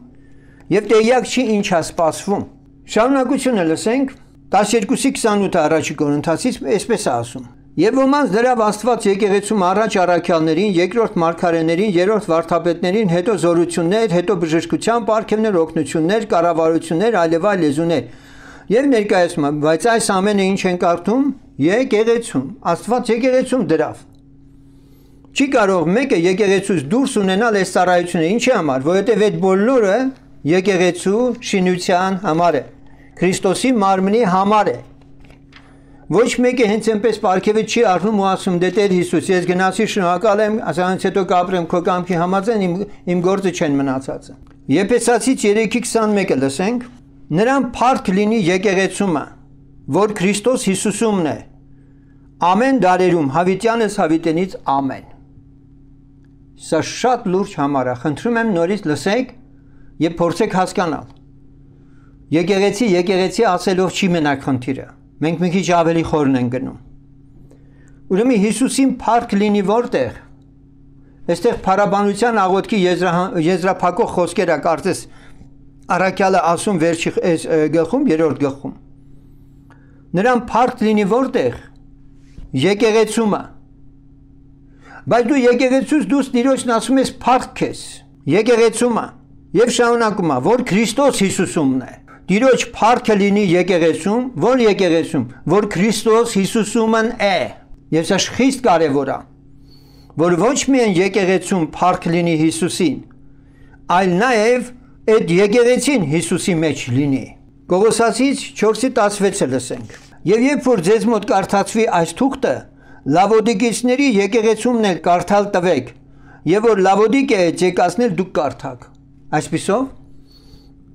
եւ տեղյակ չի ինչ է սպասվում։ Շարունակությունը լսենք, տասներկուսի քսանութը առաջի Կորինթացից այսպես է ասում. Եվ ոմանց դրավ Աստված եկեղեցում առաջ առաքյալներին, երկրորդ մարգարեներին, երրորդ վարդապետներին, հետո զորություններ, հետո բժշկության պարգևներ, օգնություններ, կառավարություններ, այլևայլ լեզուներ։ Եվ ներկայացում է, բայց այս ամենը ինչ են կարդում եկեղեցում։ Աստված եկեղեցում դրավ։ Չի կարող մեկը եկեղեցուց դուրս ունենալ այս ծառայությունը, ինչի համար, որովհետև այդ բոլորը եկեղեցու շինության համար է, Քրիստոսի մարմնի համար է։ Ոչ մեկը հենց այնպես պարգևը չի առնում ու ասում, դե Տեր Հիսուս, ես գնացի շնորհակալ եմ, ասանց հետո կապրեմ քո կամքի համաձայն, իմ, իմ գործը չեն մնացածը։ Եփեսացից երեքի քսանմեկը լսենք. Նրան փառք լինի եկեղեցումը, որ Քրիստոս Հիսուսումն է, ամեն դարերում, հավիտյանս հավիտենից ամեն։ Սա շատ լուրջ համար է, խնդրում եմ նորից լսեք եւ փորձեք հասկանալ։ Եկեղեցի, եկեղեցի ասելով չի մենակ խնդիրը։ Մենք մի քիչ ավելի խորն ենք գնում։ Ուրեմն Հիսուսին փառք լինի որտեղ։ Այստեղ փառաբանության աղոթքի եզրափակող խոսքերը կարծես առաքյալը ասում վերջի գլխում, երրորդ գլխում։ Նրան փառք լինի որտեղ։ Եկեղեցումը։ Բայց դու եկեղեցուց դուրս Տիրոջն ասում ես փառք ես։ Եկեղեցումը։ Եվ շարունակում է, որ Քրիստոս Հիսուսումն է։ Տիրոջ փառքը լինի եկեղեցում, որ եկեղեցում, որ Քրիստոս Հիսուսումն է։ Եվ սա խիստ կարևոր է, որ ոչ միայն եկեղեցում փառք լինի Հիսուսին, այլ նաև այդ եկեղեցին Հիսուսի մեջ լինի։ Կողոսացից չորսի տասնվեցը լսենք։ Եվ երբ որ ձեզ մոտ կարդացվի այս թուղթը, Լավոդիկեցիների եկեղեցումն էլ կարդալ տվեք, եւ որ Լավոդիկե եկածնել դուք կարդաք։ Այսպիսով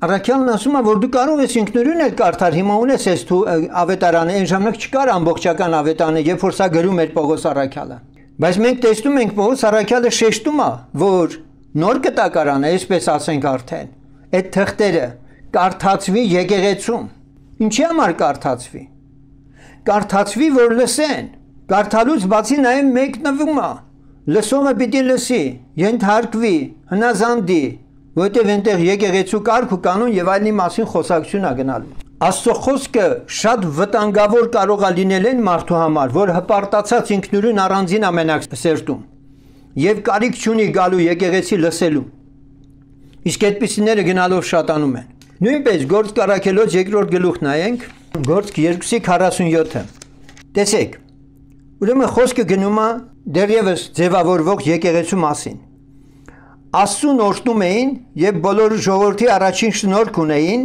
Առաքյալն ասում է, որ դու կարող ես ինքնուրույն էլ կարդալ, հիմա ունես այս ավետարանը, այն ժամանակ չկար ամբողջական ավետարանը, երբ որ սա գրում էր Պողոս առաքյալը։ Բայց մենք տեսնում ենք Պողոս առաքյալը շեշտում է, որ նոր կտակարանը, այսպես ասենք արդեն, այդ թղթերը կարդացվի եկեղեցում։ Ինչի համար կարդացվի։ Կարդացվի, որ լսեն։ Կարդալուց բացի նաև մեկնվում է։ Լսողը պիտի լսի, ենթարկվի, հնազանդի, որտեղ այնտեղ եկեղեցու կարգ ու կանոն եւ այլնի մասին խոսակցություն է գնալու։ Աստծո խոսքը շատ վտանգավոր կարող է լինել այն մարդու համար, որ հպարտացած ինքնուրույն առանձին ամենակ սերտում եւ կարիք չունի գալու եկեղեցի լսելու։ Իսկ այդպիսիները գնալով շատանում են։ Նույնպես Գործք առաքելոց երկրորդ գլուխ նայենք, Գործք երկուսի քառասունյոթը։ Տեսեք։ Ուրեմն խոսքը գնում է դեռևս ձևավորվող եկեղեցու մասին։ Աստծուն օրհնում էին եւ բոլոր ժողովրդի առաջին շնորհք ունեին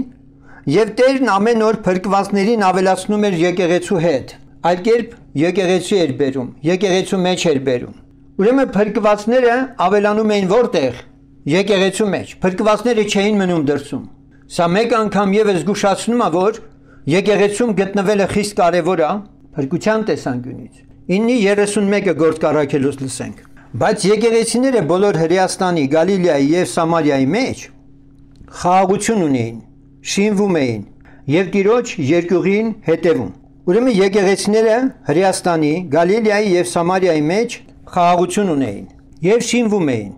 եւ Տերն ամեն օր փրկվածներին ավելացնում էր եկեղեցու հետ։ Այլ կերպ եկեղեցի էր բերում, եկեղեցու մեջ էր բերում։ Ուրեմն փրկվածները ավելանում էին որտեղ։ Եկեղեցու մեջ։ Փրկվածները չէին մնում դրսում։ Սա մեկ անգամ եւս զգուշացնում է, որ եկեղեցում գտնվելը խիստ կարեւոր է փրկության տեսանկյունից։ ինը երեսունմեկը Գործք առաքելոց լսենք։ Բայց եկեղեցիները բոլոր Հրեաստանի, Գալիլեայի եւ Սամարիայի մեջ խաղաղություն ունեին, շինվում էին եւ Տիրոջ երկյուղին հետևում։ Ուրեմն եկեղեցիները Հրեաստանի, Գալիլեայի եւ Սամարիայի մեջ խաղաղություն ունեին եւ շինվում էին։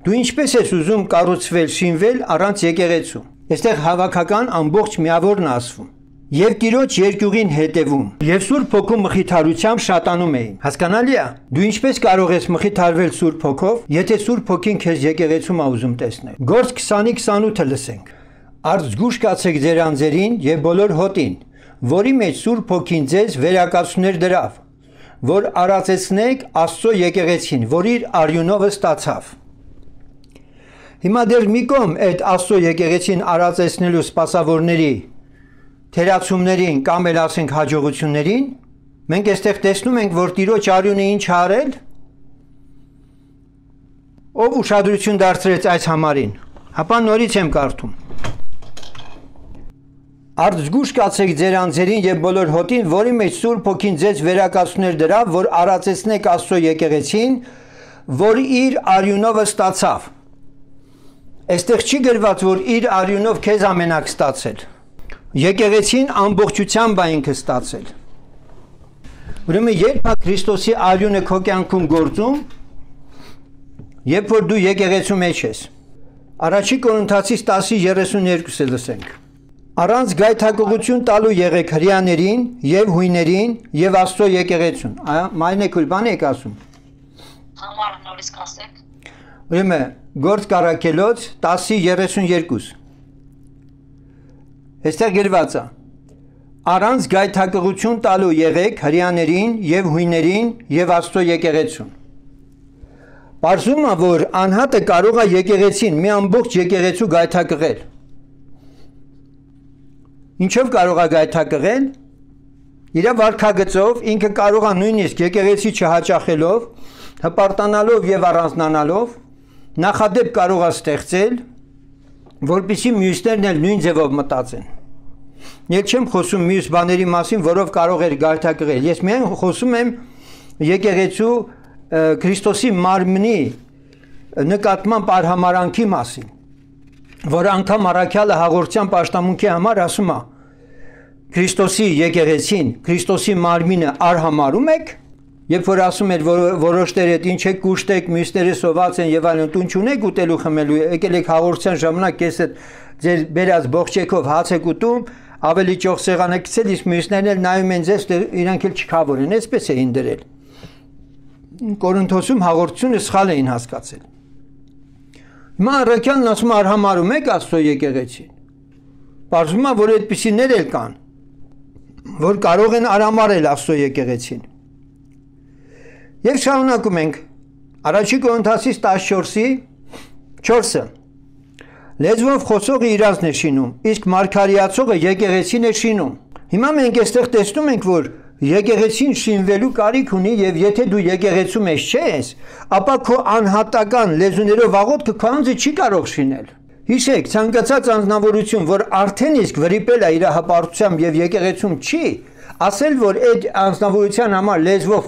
Դու ինչպես ես ուզում կառուցվել, շինվել առանց եկեղեցու։ Այստեղ հավաքական ամբողջ միավորն ասվում։ Եվ Տիրոջ երկյուղին հետևում եւ Սուրբ Հոգու մխիթարությամբ շատանում էին։ Հասկանալի է։ Դու ինչպես կարող ես մխիթարվել Սուրբ Հոգով, եթե Սուրբ Հոգին քեզ եկեղեցում ա ուզում տեսնել։ Գործք քսանի քսանութը լսենք։ Արդ զգուշ կացեք ձեր անձերին եւ բոլոր հոտին, որի մեջ Սուրբ Հոգին ձեզ վերակացուներ դրավ, որ արածեցնեք Աստծո եկեղեցին, որ իր արյունով ստացավ։ Հիմա դեռ մի կողմ այդ Աստծո եկեղեցին արածեցնելու սպասավորների թերացումներին կամ էլ ասենք հաջողություններին, մենք այստեղ տեսնում ենք, որ Տիրոջ արյունը ինչ է արել, ով ուշադրություն դարձրեց այս համարին, հապա նորից եմ կարդում։ Արդ զգուշ կացեք ձեր անձերին եւ բոլոր հոտին, որի մեջ Սուրբ Հոգին ձեզ վերակացուներ դրավ, որ արածեցնեք Աստծո եկեղեցին, որ իր արյունով ստացավ։ Այստեղ չի գրված, որ իր արյունով քեզ ամենակ ստացել։ Եկեղեցին ամբողջությամբ է ինքը ստացել։ Ուրեմն երբ է Քրիստոսի արյունը քո կյանքում գործում, երբ որ դու եկեղեցու մեջ ես։ Առաջի Կորինթացիս տասը երեսունյոթը լսենք։ Առանց գայթակղություն տալու եղեք հրեաներին եւ հույներին եւ Աստծո եկեղեցուն։ Մայրն եք բան եք ասում։ Համարը նորից կասեք։ Ուրեմն Գործ Կարաքելոց տասը երեսունյոթ։ Այստեղ գրված է. Առանց գայթակղություն տալու եղեք հրեաներին եւ հույներին եւ Աստծո եկեղեցուն։ Պարզում է, որ անհատը կարող է եկեղեցին, մի ամբողջ եկեղեցու գայթակղել։ Ինչով կարող է գայթակղել։ Իր վարքագծով ինքը կարող է նույնիսկ եկեղեցի չհաճախելով, հպարտանալով եւ առանձնանալով նախադեպ կարող է ստեղծել, որպեսզի մյուսներն էլ նույն ձևով մտածեն։ Ես չեմ խոսում մյուս բաների մասին, որով կարող էր գայթակղել։ Ես միայն խոսում եմ եկեղեցու Քրիստոսի մարմնի նկատմամբ արհամարանքի մասին, որ անգամ առաքյալը հաղորդության պաշտամունքի համար ասում է. Քրիստոսի եկեղեցին, Քրիստոսի մարմինը արհամարում եք, երբ որ ասում էր որոշները ինչ եք կուշտեք, մյուսները սոված են եւ այլն, տուն չունեք ուտելու խմելու, եկել եք հաղորդության ժամանակ ես ձեր բերած բողջեքով հաց եք ուտում, ավելի ճոխ սեղան եք գցել, իսկ մյուսներն էլ նայում են ձեզ, իրանք էլ չքավոր են, այսպես էին դրել։ Կորինթոսում հաղորդությունը սխալ էին հասկացել։ Հիմա առաքյալն ասում արհամարում եք Աստծո եկեղեցին։ Պարզվում է, որ այդպիսիներ էլ կան, որ կարող են արհամարել Աստծո եկեղեցին։ Եվ շարունակում ենք Առաջի Կորինթացիս տասնչորսի չորսը։ Լեզվով խոսողը իրանցն է շինում, իսկ մարգարեացողը եկեղեցին է շինում։ Հիմա մենք այստեղ տեսնում ենք, որ եկեղեցին շինվելու կարիք ունի եւ եթե դու եկեղեցու մեջ չես, ապա քո անհատական լեզուներով աղոթքը քո անձը չի կարող շինել։ Հիշեք, ցանկացած անձնավորություն, որ արդեն իսկ վրիպել է իր հպարտությամբ եւ եկեղեցում չի, ասել որ այդ անձնավորության համար լեզվով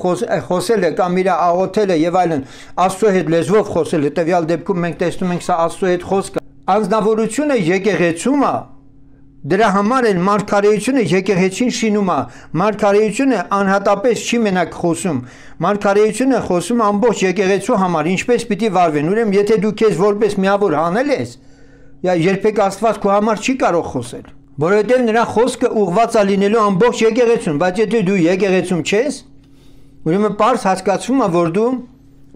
խոսելը կամ իր աղոթելը եւ այլն Աստծո հետ լեզվով խոսելը, տվյալ դեպքում մենք տեսնում ենք սա Աստծո հետ խոսքը։ Անձնավորությունը եկեղեցում է։ Դրա համար էլ մարգարեությունը եկեղեցին շինում է։ Մարգարեությունը անհատապես չի մենակ խոսում։ Մարգարեությունը խոսում ամբողջ եկեղեցու համար, ինչպես պիտի վարվեն։ Ուրեմն եթե դու քեզ որպես միավոր հանել ես, երբեք Աստված քո համար չի կարող խոսել, որովհետև նրա խոսքը ուղղված է լինելու ամբողջ եկեղեցուն, բայց եթե դու եկեղեցում չես, ուրեմն պարզ հասկացվում է, որ դու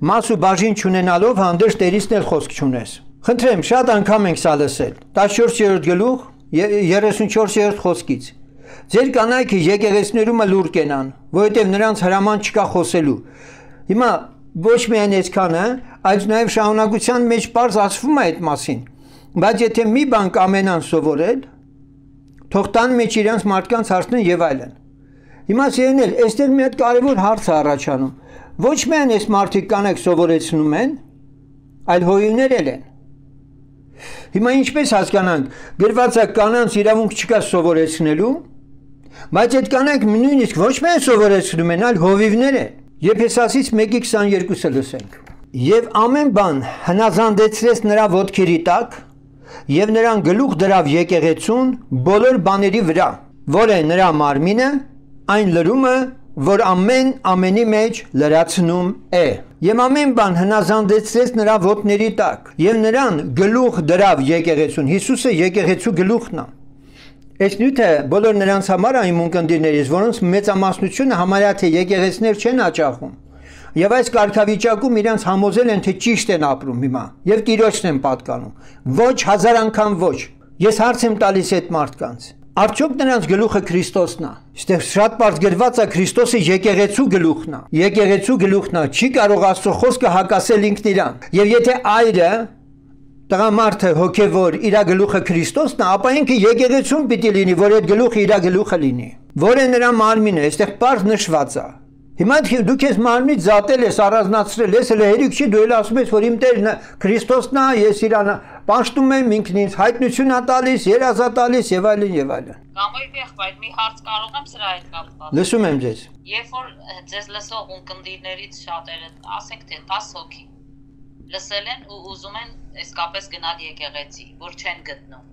մաս ու բաժին չունենալով հանդերձ Տերից էլ խոսք չունես։ Խնդրեմ, շատ անգամ ենք սա լսել։ տասնչորսերորդ գլուխ երեսունչորսերորդ խոսքից։ Ձեր կանայքը եկեղեցիներում լուր կենան, որովհետև նրանց հրաման չկա խոսելու։ Հիմա ոչ միայն այսքանը, այլ նաև շահունակության մեջ պարզ ասվում է այդ մասին։ Բայց եթե մի բան կամենան սովորել, թող տան մեջ իրենց մարդկանց հարցնեն եւ այլն։ Հիմա սիրելիներ, այստեղ մի հատ կարևոր հարց է առաջանում։ Ոչ միայն այս մարդիկ կանայք սովորեցնում են, այլ հույներ էլ են։ Հիմա ինչպես հասկանանք, գրված է կանանց իրավունք չկա սովորեցնելու, բայց այդ կանայք նույնիսկ ոչ միայն սովորեցնում են, այլ հովիվներ են։ Եփեսացից մեկի քսաներկուսը լսենք։ Եվ ամեն բան հնազանդեցրեց նրա ոտքերի տակ, եւ նրան գլուխ դրավ եկեղեցուն բոլոր բաների վրա, որ է նրա մարմինը, այն լրումը, որ ամեն ամենի մեջ լրացնում է։ Եվ ամեն բան հնազանդեցրեց նրա ոտների տակ, եւ նրան գլուխ դրավ եկեղեցուն։ Հիսուսը եկեղեցու գլուխն է։ Այս նյութը բոլոր նրանց համար այն ունկնդիրներից, որոնց մեծամասնությունը համարյա թե եկեղեցիներ չեն հաճախում։ Եվ այս կարգավիճակում իրենց համոզել են, թե ճիշտ են ապրում հիմա, եւ Տիրոջն են պատկանում։ Ոչ, հազար անգամ ոչ։ Ես հարց եմ տալիս այդ մարդկանց։ Արդյոք նրանց գլուխը Քրիստոսն է։ Այստեղ շատ բարձ գրված է Քրիստոսը եկեղեցու գլուխն է։ Եկեղեցու գլուխն է, չի կարող Աստծո խոսքը հակասել ինքն իրան։ Եվ եթե այրը տղամարդը հոգևոր իր գլուխը Քրիստոսն է, ապա ինքը եկեղեցուն պիտի լինի, որ այդ գլուխը իր գլուխը լինի։ Որ է նրա մարմինը, այստեղ բարձ նշված է։ Հիմա դու քեզ մարմնից զատել ես, առանձնացրել ես, հələ հերիք չի, դու էլ ասում ես, որ իմ Տերն Քրիստոսն է, ես իրան պաշտում եմ, ինքն ինձ հայտնություն է տալիս, երազա տալիս եւ այլն եւ այլն։ Գամոյ եղբայր, մի հարց կարող եմ սրա հետ կապված։ Լսում եմ ձեզ։ Երբ որ ձեզ լսող ունկնդիրներից շատերը, ասենք թե տասը հոգի լսել են ու ուզում են իսկապես գնալ եկեղեցի, որ չեն գտնում։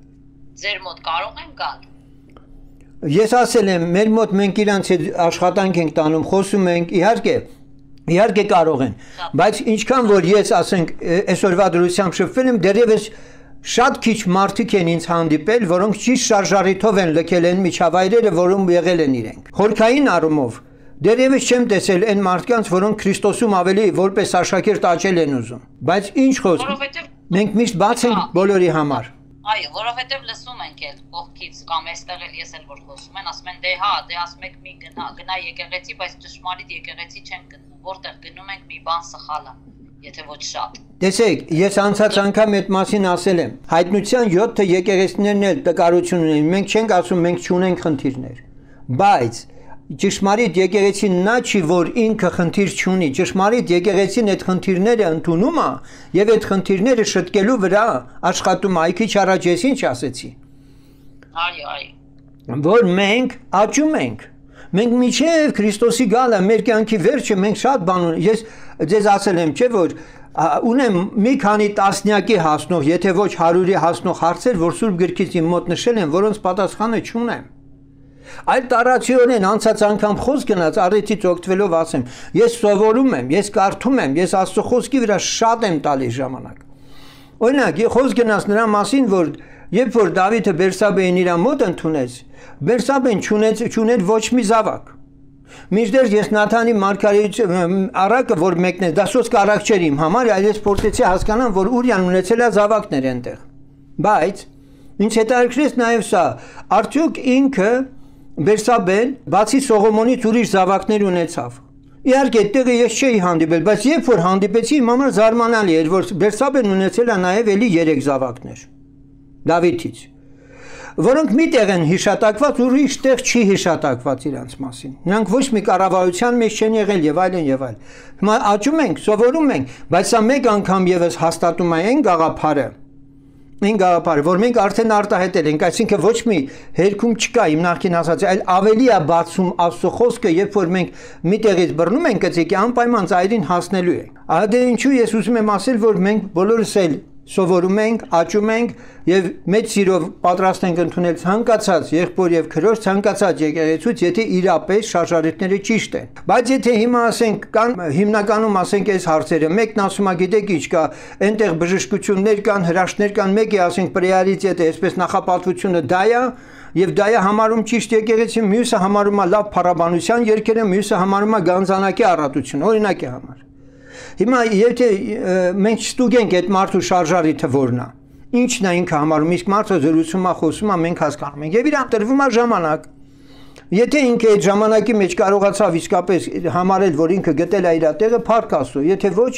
Ձեր մոտ կարող են գալ։ Ես ասել եմ, մեր մոտ մենք իրանց հետ աշխատանք ենք տանում, խոսում ենք, իհարկե, իհարկե կարող են, բայց ինչքան որ ես ասենք այսօրվա դրությամբ շփվել եմ, դեռևս շատ քիչ մարդիկ են ինձ հանդիպել, որոնք ճիշտ շարժառիթով են լքել են միջավայրերը, որում եղել են իրենք։ Խորքային առումով դեռևս չեմ տեսել այն մարդկանց, որոնք Քրիստոսում ավելի որպես աշակերտ աճել են ուզում։ Բայց ինչ խոսք, մենք միշտ բաց ենք բոլորի համար։ Այո, որովհետև լսում ենք էլ կողքից կամ այստեղ էլ ես էլ որ խոսում են, ասում են դե հա, դե ասում եք մի գնա, գնա եկեղեցի, բայց ճշմարիտ եկեղեցի չեն գտնում, որտեղ գնում ենք մի բան սխալ է, եթե ոչ շատ։ Տեսեք, ես անցած անգամ այդ մասին ասել եմ, հայտնության յոթ եկեղեցիներն էլ տկարություն ունեն, մենք չենք ասում մենք չունենք խնդիրներ, բայց ճշմարիտ եկեղեցին նա չի, որ ինքը խնդիր չունի, ճշմարիտ եկեղեցին այդ խնդիրները ընդունում է եւ այդ խնդիրները շտկելու վրա աշխատում է, այքիչ առաջ ես ինչ ասեցի։ Այո, այո։ Որ մենք աճում ենք։ Մենք միջև Քրիստոսի գալը մեր կյանքի վերջը մենք շատ բան ունենք։ Ես ձեզ ասել եմ, չէ՞ որ ունեմ մի քանի տասնյակի հասնող, եթե ոչ հարյուրի հասնող հարցեր, որ Սուրբ գրքից իմ մոտ նշել են, որոնց պատասխանը չունեմ։ Այլ տարածիորեն անցած անգամ խոսք գնաց առիթից օգտվելով ասեմ, ես սովորում եմ, ես կարդում եմ, ես Աստծո խոսքի վրա շատ եմ տալիս ժամանակ։ Օրինակ, խոսք գնաց նրա մասին, որ երբ որ Դավիթը Բերսաբեին իր մոտ ընդունեց, Բերսաբեն չունեց չուներ ոչ մի զավակ։ Մինչդեռ ես Նաթանի մարգարեի առակը, որ մեկն է, դա սոսկ առակ չէր իմ համար, այլ ես փորձեցի հասկանամ, որ Ուրիան ունեցել է զավակներ այնտեղ։ Բայց ինչ հետաքրքրեց նաև սա, արդյոք ինքը Բերսաբեն բացի Սողոմոնից ուրիշ զավակներ ունեցավ։ Իհարկե այդտեղը ես չէի հանդիպել, բայց երբ որ հանդիպեցի, իմ համար զարմանալի էր, որ Բերսաբեն ունեցել է նաև էլի երեք զավակներ Դավիթից, որոնք մի տեղ են հիշատակված, ուրիշ տեղ չի հիշատակված իրանց մասին։ Նրանք ոչ մի կառավարության մեջ չեն եղել եւ այլն եւ այլն։ Հիմա աճում ենք, սովորում ենք, բայց սա մեկ անգամ եւս հաստատում է այն գաղափարը, այն գաղափարը, որ մենք արդեն արտահայտել ենք, այսինքն ոչ մի հերքում չկա իմ նախքին ասած, այլ ավելի է բացում Աստծո խոսքը, երբ որ մենք մի տեղից բռնում ենք գծիկի, անպայման ծայրին հասնելու ենք։ Ահա դե ինչու ես ուզում եմ ասել, որ մենք բոլորս էլ սովորում ենք, աճում ենք եւ մեծ սիրով պատրաստ ենք ընդունել ցանկացած եղբոր եւ քրոջ ցանկացած եկեղեցուց, եթե իրապես շարժարիթները ճիշտ են։ Բայց եթե հիմա ասենք կան հիմնականում ասենք այս հարցերը, մեկն ասում է գիտեք ինչ կա, այնտեղ բժշկություններ կան, հրաշքներ կան, մեկը ասենք պրեարիտետը, այսպես նախապատվությունը դա է եւ դա է համարում ճիշտ եկեղեցի, մյուսը համարում է լավ փառաբանության երկերը, մյուսը համարում է գանձանակի առատություն, օրինակի համար։ Հիմա եթե մենք ստուգենք այդ մարդու շարժարիթը որն է, ինչն է ինքը համարում, իսկ մարդը զրուցում է, խոսում է, մենք հասկանում ենք եւ իրան տրվում է ժամանակ։ Եթե ինքը այդ ժամանակի մեջ կարողացավ իսկապես համարել, որ ինքը գտել է իր տեղը, փառք Աստծո, եթե ոչ,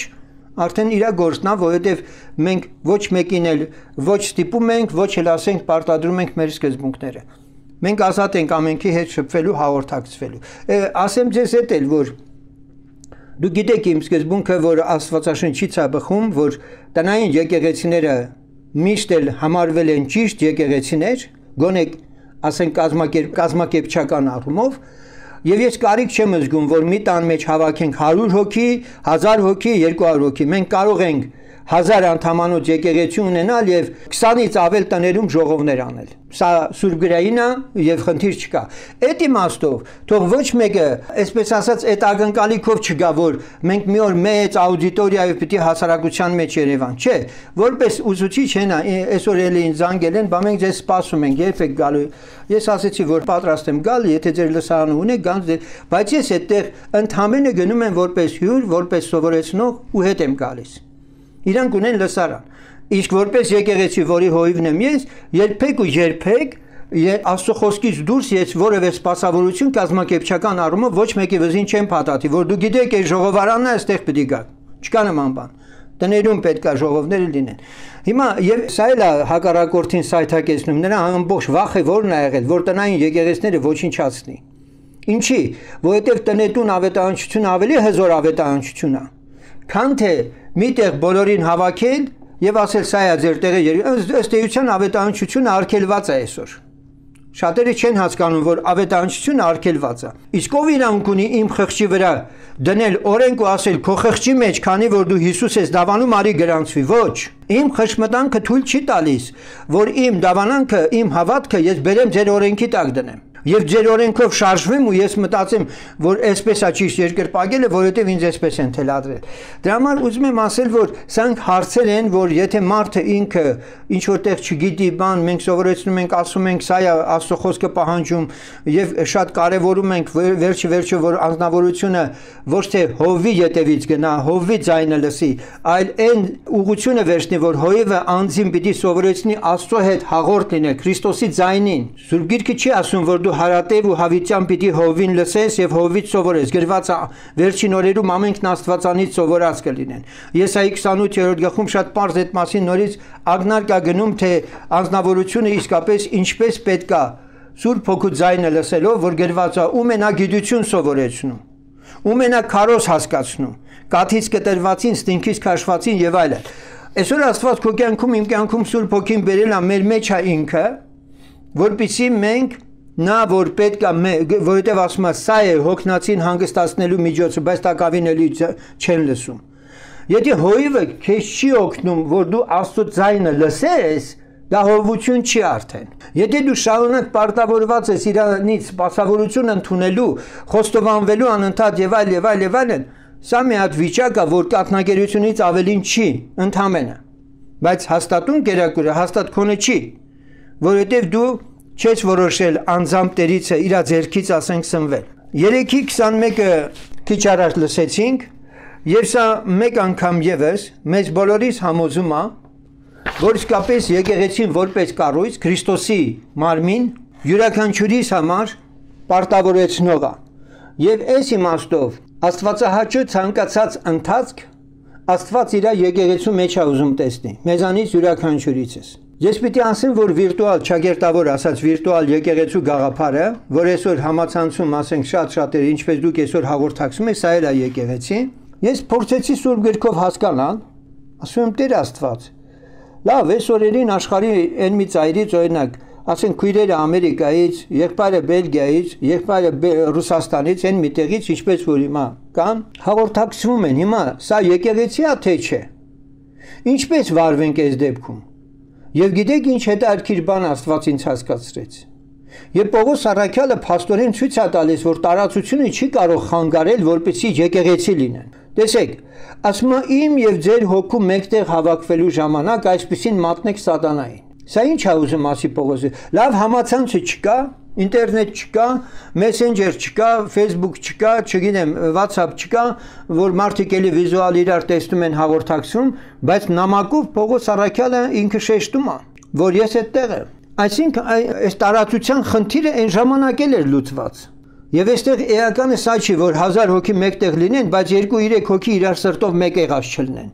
արդեն իր գործն է, որովհետեւ մենք ոչ մեկին էլ ոչ ստիպում ենք, ոչ էլ ասենք պարտադրում ենք մեր սկզբունքները։ Մենք ազատ ենք ամենքի հետ շփվելու, հաղորդակցվելու։ Ասեմ ձեզ հետ էլ, որ դու գիտեք իմ սկզբունքը, որ Աստվածաշնչից է բխում, որ տնային եկեղեցիները միշտ էլ համարվել են ճիշտ եկեղեցիներ, գոնե ասենք կազմակերպ կազմակերպչական առումով, եւ ես կարիք չեմ զգում, որ մի տան մեջ հավաքենք հարյուր հոգի, հազար հոգի, երկու հարյուր հոգի, մենք կարող ենք հազար անդամանոց եկեղեցի ունենալ եւ քսանից ավել տներում ժողովներ անել։ Սա սուրբգրային է եւ խնդիր չկա։ Այդ իմաստով թող ոչ մեկը, այսպես ասած, այդ ակնկալիքով չգա, որ մենք մի օր մեծ աուդիտորիայով պիտի հասարակության մեջ Երևան, չէ, որպես ուսուցիչ հենա, այսօր էլի ինձ զանգել են, բա մենք ձեզ սպասում ենք, երբ եք գալու։ Ես ասեցի, որ պատրաստ եմ գալ, եթե ձեր լսարանը ունեք, գանց դեր, բայց ես այդտեղ ընդհանրապես գնում եմ որպես հյուր, որպես սովորեցնող ու հետ եմ գալիս։ Իրանք ունեն լսարան, իսկ որպես եկեղեցի, որի հովիվն եմ ես, երբեք ու երբեք Աստծո խոսքից դուրս ես որևէ սպասավորություն կազմակերպչական առումով ոչ մեկի վզին չեմ փաթաթի, որ դու գիտեք այս ժողովարանն է, այստեղ պետք է գա։ Չկա նման բան։ Տներում պետք է ժողովները լինեն։ Հիմա եւ սա էլ է հակառակորդին սայթակեցնում, նրա ամբողջ վախը որն է եղել, որ տնային եկեղեցիները ոչնչացնի։ Ինչի, որովհետեւ տնետուն ավետարանչությունը ավելի հզոր ավետարանչություն է, քան թե միտեղ բոլորին հավաքել եւ ասել սա է ձեր տեղը, ըստ էության ավետարանչությունը արգելված է այսօր։ Շատերը չեն հասկանում, որ ավետարանչությունը արգելված է։ Իսկ ով իրանք ունի իմ խղճի վրա դնել օրենք ու ասել քո խղճի մեջ, քանի որ դու Հիսուս ես դավանում, արի գրանցվի։ Ոչ։ Իմ խշմտանքը թույլ չի տալիս, որ իմ դավանանքը, իմ հավատքը ես բերեմ ձեր օրենքի տակ դնեմ։ Եվ ձեր օրենքով շարժվեմ ու ես մտածեմ, որ այսպես է ճիշտ երկրպագելը, որովհետև ինձ այսպես են թելադրել։ Դրա համար ուզում եմ ասել, որ սրանք հարցեր են, որ եթե մարդը ինքը ինչ որտեղ չգիտի բան, մենք սովորեցնում ենք, ասում ենք, սա է Աստծո խոսքը պահանջում եւ շատ կարեւորում ենք վերջի վերջը, որ անձնավորությունը ոչ թե հովվի ետևից գնա, հովվի ձայնը լսի, այլ այն ուղղությունը վերցնի, որ հովիվը անձին պիտի սովորեցնի Աստծո հետ հաղորդ լինել, Քրիստոսի ձայնին։ Սուրբ Գիրքը չի ասում, որ դու հարատև ու հավիտյան պիտի հովին լսես եւ հովից սովորես։ Գրված է վերջին օրերում ամենքն Աստվածանից սովորած կլինեն։ Եսայի քսանութ-րդ գլխում շատ պարզ այդ մասին նորից ակնարկ է գնում, թե անձնավորությունը իսկապես ինչպես պետք է Սուրբ Հոգու ձայնը լսելով, որ գրված է ու մենագիտություն սովորեցնում, ու մենակ քարոզ հասկացնում, կաթից կտրվածին, ստինքից քաշվածին եւ այլն։ Այսօր Աստված քո կյանքում, իմ կյանքում Սուրբ Հոգին բերել է մեր մեջ է ինքը, որպեսզի մենք նա որ պետք է, որովհետև ասում է, սա է հոգնածին հանգստացնելու միջոցը, բայց տակավին էլի չեն լսում։ Եթե հովիվը քեզ չի օգնում, որ դու Աստծո ձայնը լսես, դա հովություն չի արդեն։ Եթե դու շարունակ պարտավորված ես իրանից սպասավորություն ընդունելու, խոստովանվելու անընդհատ եւ այլ եւ այլ եւ այլն, սա մի հատ վիճակ է, որ կաթնագերությունից ավելին չի, ընդհանրապես։ Բայց հաստատուն կերակուրը հաստատ քոնը չի, որովհետև դու չես որոշել անձամբ Տերիցը իր ձեռքից ասենք սնվել։ Երեքի քսանմեկը քիչ առաջ լսեցինք, եւ սա մեկ անգամ եւս մեզ բոլորիս համոզում է, որ իսկապես եկեղեցին որպես կառույց Քրիստոսի մարմին յուրաքանչյուրիս համար պարտավորեցնող է։ Եվ այս իմաստով Աստվածահաճո ցանկացած ընթացք Աստված իր եկեղեցու մեջ է ուզում տեսնի, մեզանից յուրաքանչյուրիցս։ Ես պիտի ասեմ, որ վիրտուալ չագերտավոր ասած վիրտուալ եկեղեցու գաղափարը, որ այսօր համացանցում ասենք շատ-շատերը, ինչպես դուք այսօր հաղորդակցում եք, սա էլ է եկեղեցի։ Ես փորձեցի Սուրբ Գրքով հասկանալ, ասում եմ Տեր Աստված, լավ, այս օրերին աշխարհի այն մի ծայրից օրինակ, ասենք քույրերը Ամերիկայից, եղբայրը Բելգիայից, եղբայրը Ռուսաստանից, այն մի տեղից, ինչպես որ հիմա կան, հաղորդակցվում են։ Հիմա սա եկեղեցի է թե չէ։ Ինչպես վարվենք այս դեպքում։ Եվ գիտեք ինչ հետաքրքիր բան Աստված ինձ հասկացրեց։ Եվ Պողոս առաքյալը փաստորեն ցույց է տալիս, որ տարածությունը չի կարող խանգարել, որպեսզի եկեղեցի լինեն։ Տեսեք, ասում է իմ եւ ձեր հոգու մեկտեղ հավաքվելու ժամանակ այսպեսին մատնեք սատանային։ Սա ինչ է ուզում ասի Պողոսը։ Լավ համացանցը չկա, ինտերնետ չկա, մեսենջեր չկա, Facebook չկա, չգիտեմ, WhatsApp չկա, որ մարդիկ էլի վիզուալ իրար տեսնում են հաղորդակցում, բայց նամակով Պողոս առաքյալը ինքը շեշտում է, որ ես այդտեղ եմ։ Այսինքն այս տարածության խնդիրը այն ժամանակ էլ էր լուծված։ Եվ այստեղ էականը սա չի, որ հազար հոգի մեկտեղ լինեն, բայց երկու-երեք հոգի իրար սրտով մեկ եղած չլինեն։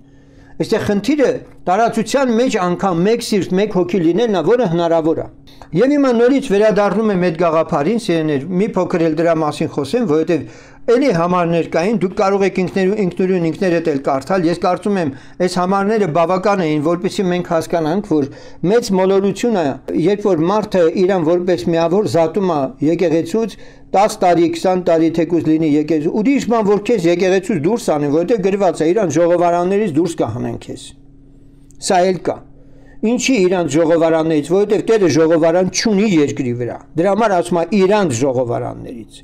Այստեղ խնդիրը տարածության մեջ անգամ մեկ սիրտ, մեկ հոգի լինելն է, որը հնարավոր է։ Եվ հիմա նորից վերադառնում եմ այդ գաղափարին, սիրեներ, մի փոքր էլ դրա մասին խոսեմ, որովհետև էլի համարներ կային, դուք կարող եք ինքներուն ինքներդ էլ կարդալ։ Ես կարծում եմ, այս համարները բավական էին, որպեսզի մենք հասկանանք, որ մեծ մոլորությունը, երբ որ մարդը իրան որպես միավոր զատում է եկեղեցուց, դաս տարի, քսան տարի թեկուզ լինի եկեղեցու, ուրիշ բան որ քեզ եկեղեցուց դուրս անեն, որովհետև գրված է իրան ժողովարաններից դուրս կհանեն քեզ։ Սա էլ կա։ Ինչի իրանց ժողովարաններից, որովհետև Տերը ժողովարան չունի երկրի վրա։ Դրա համար ասում է իրանց ժողովարաններից։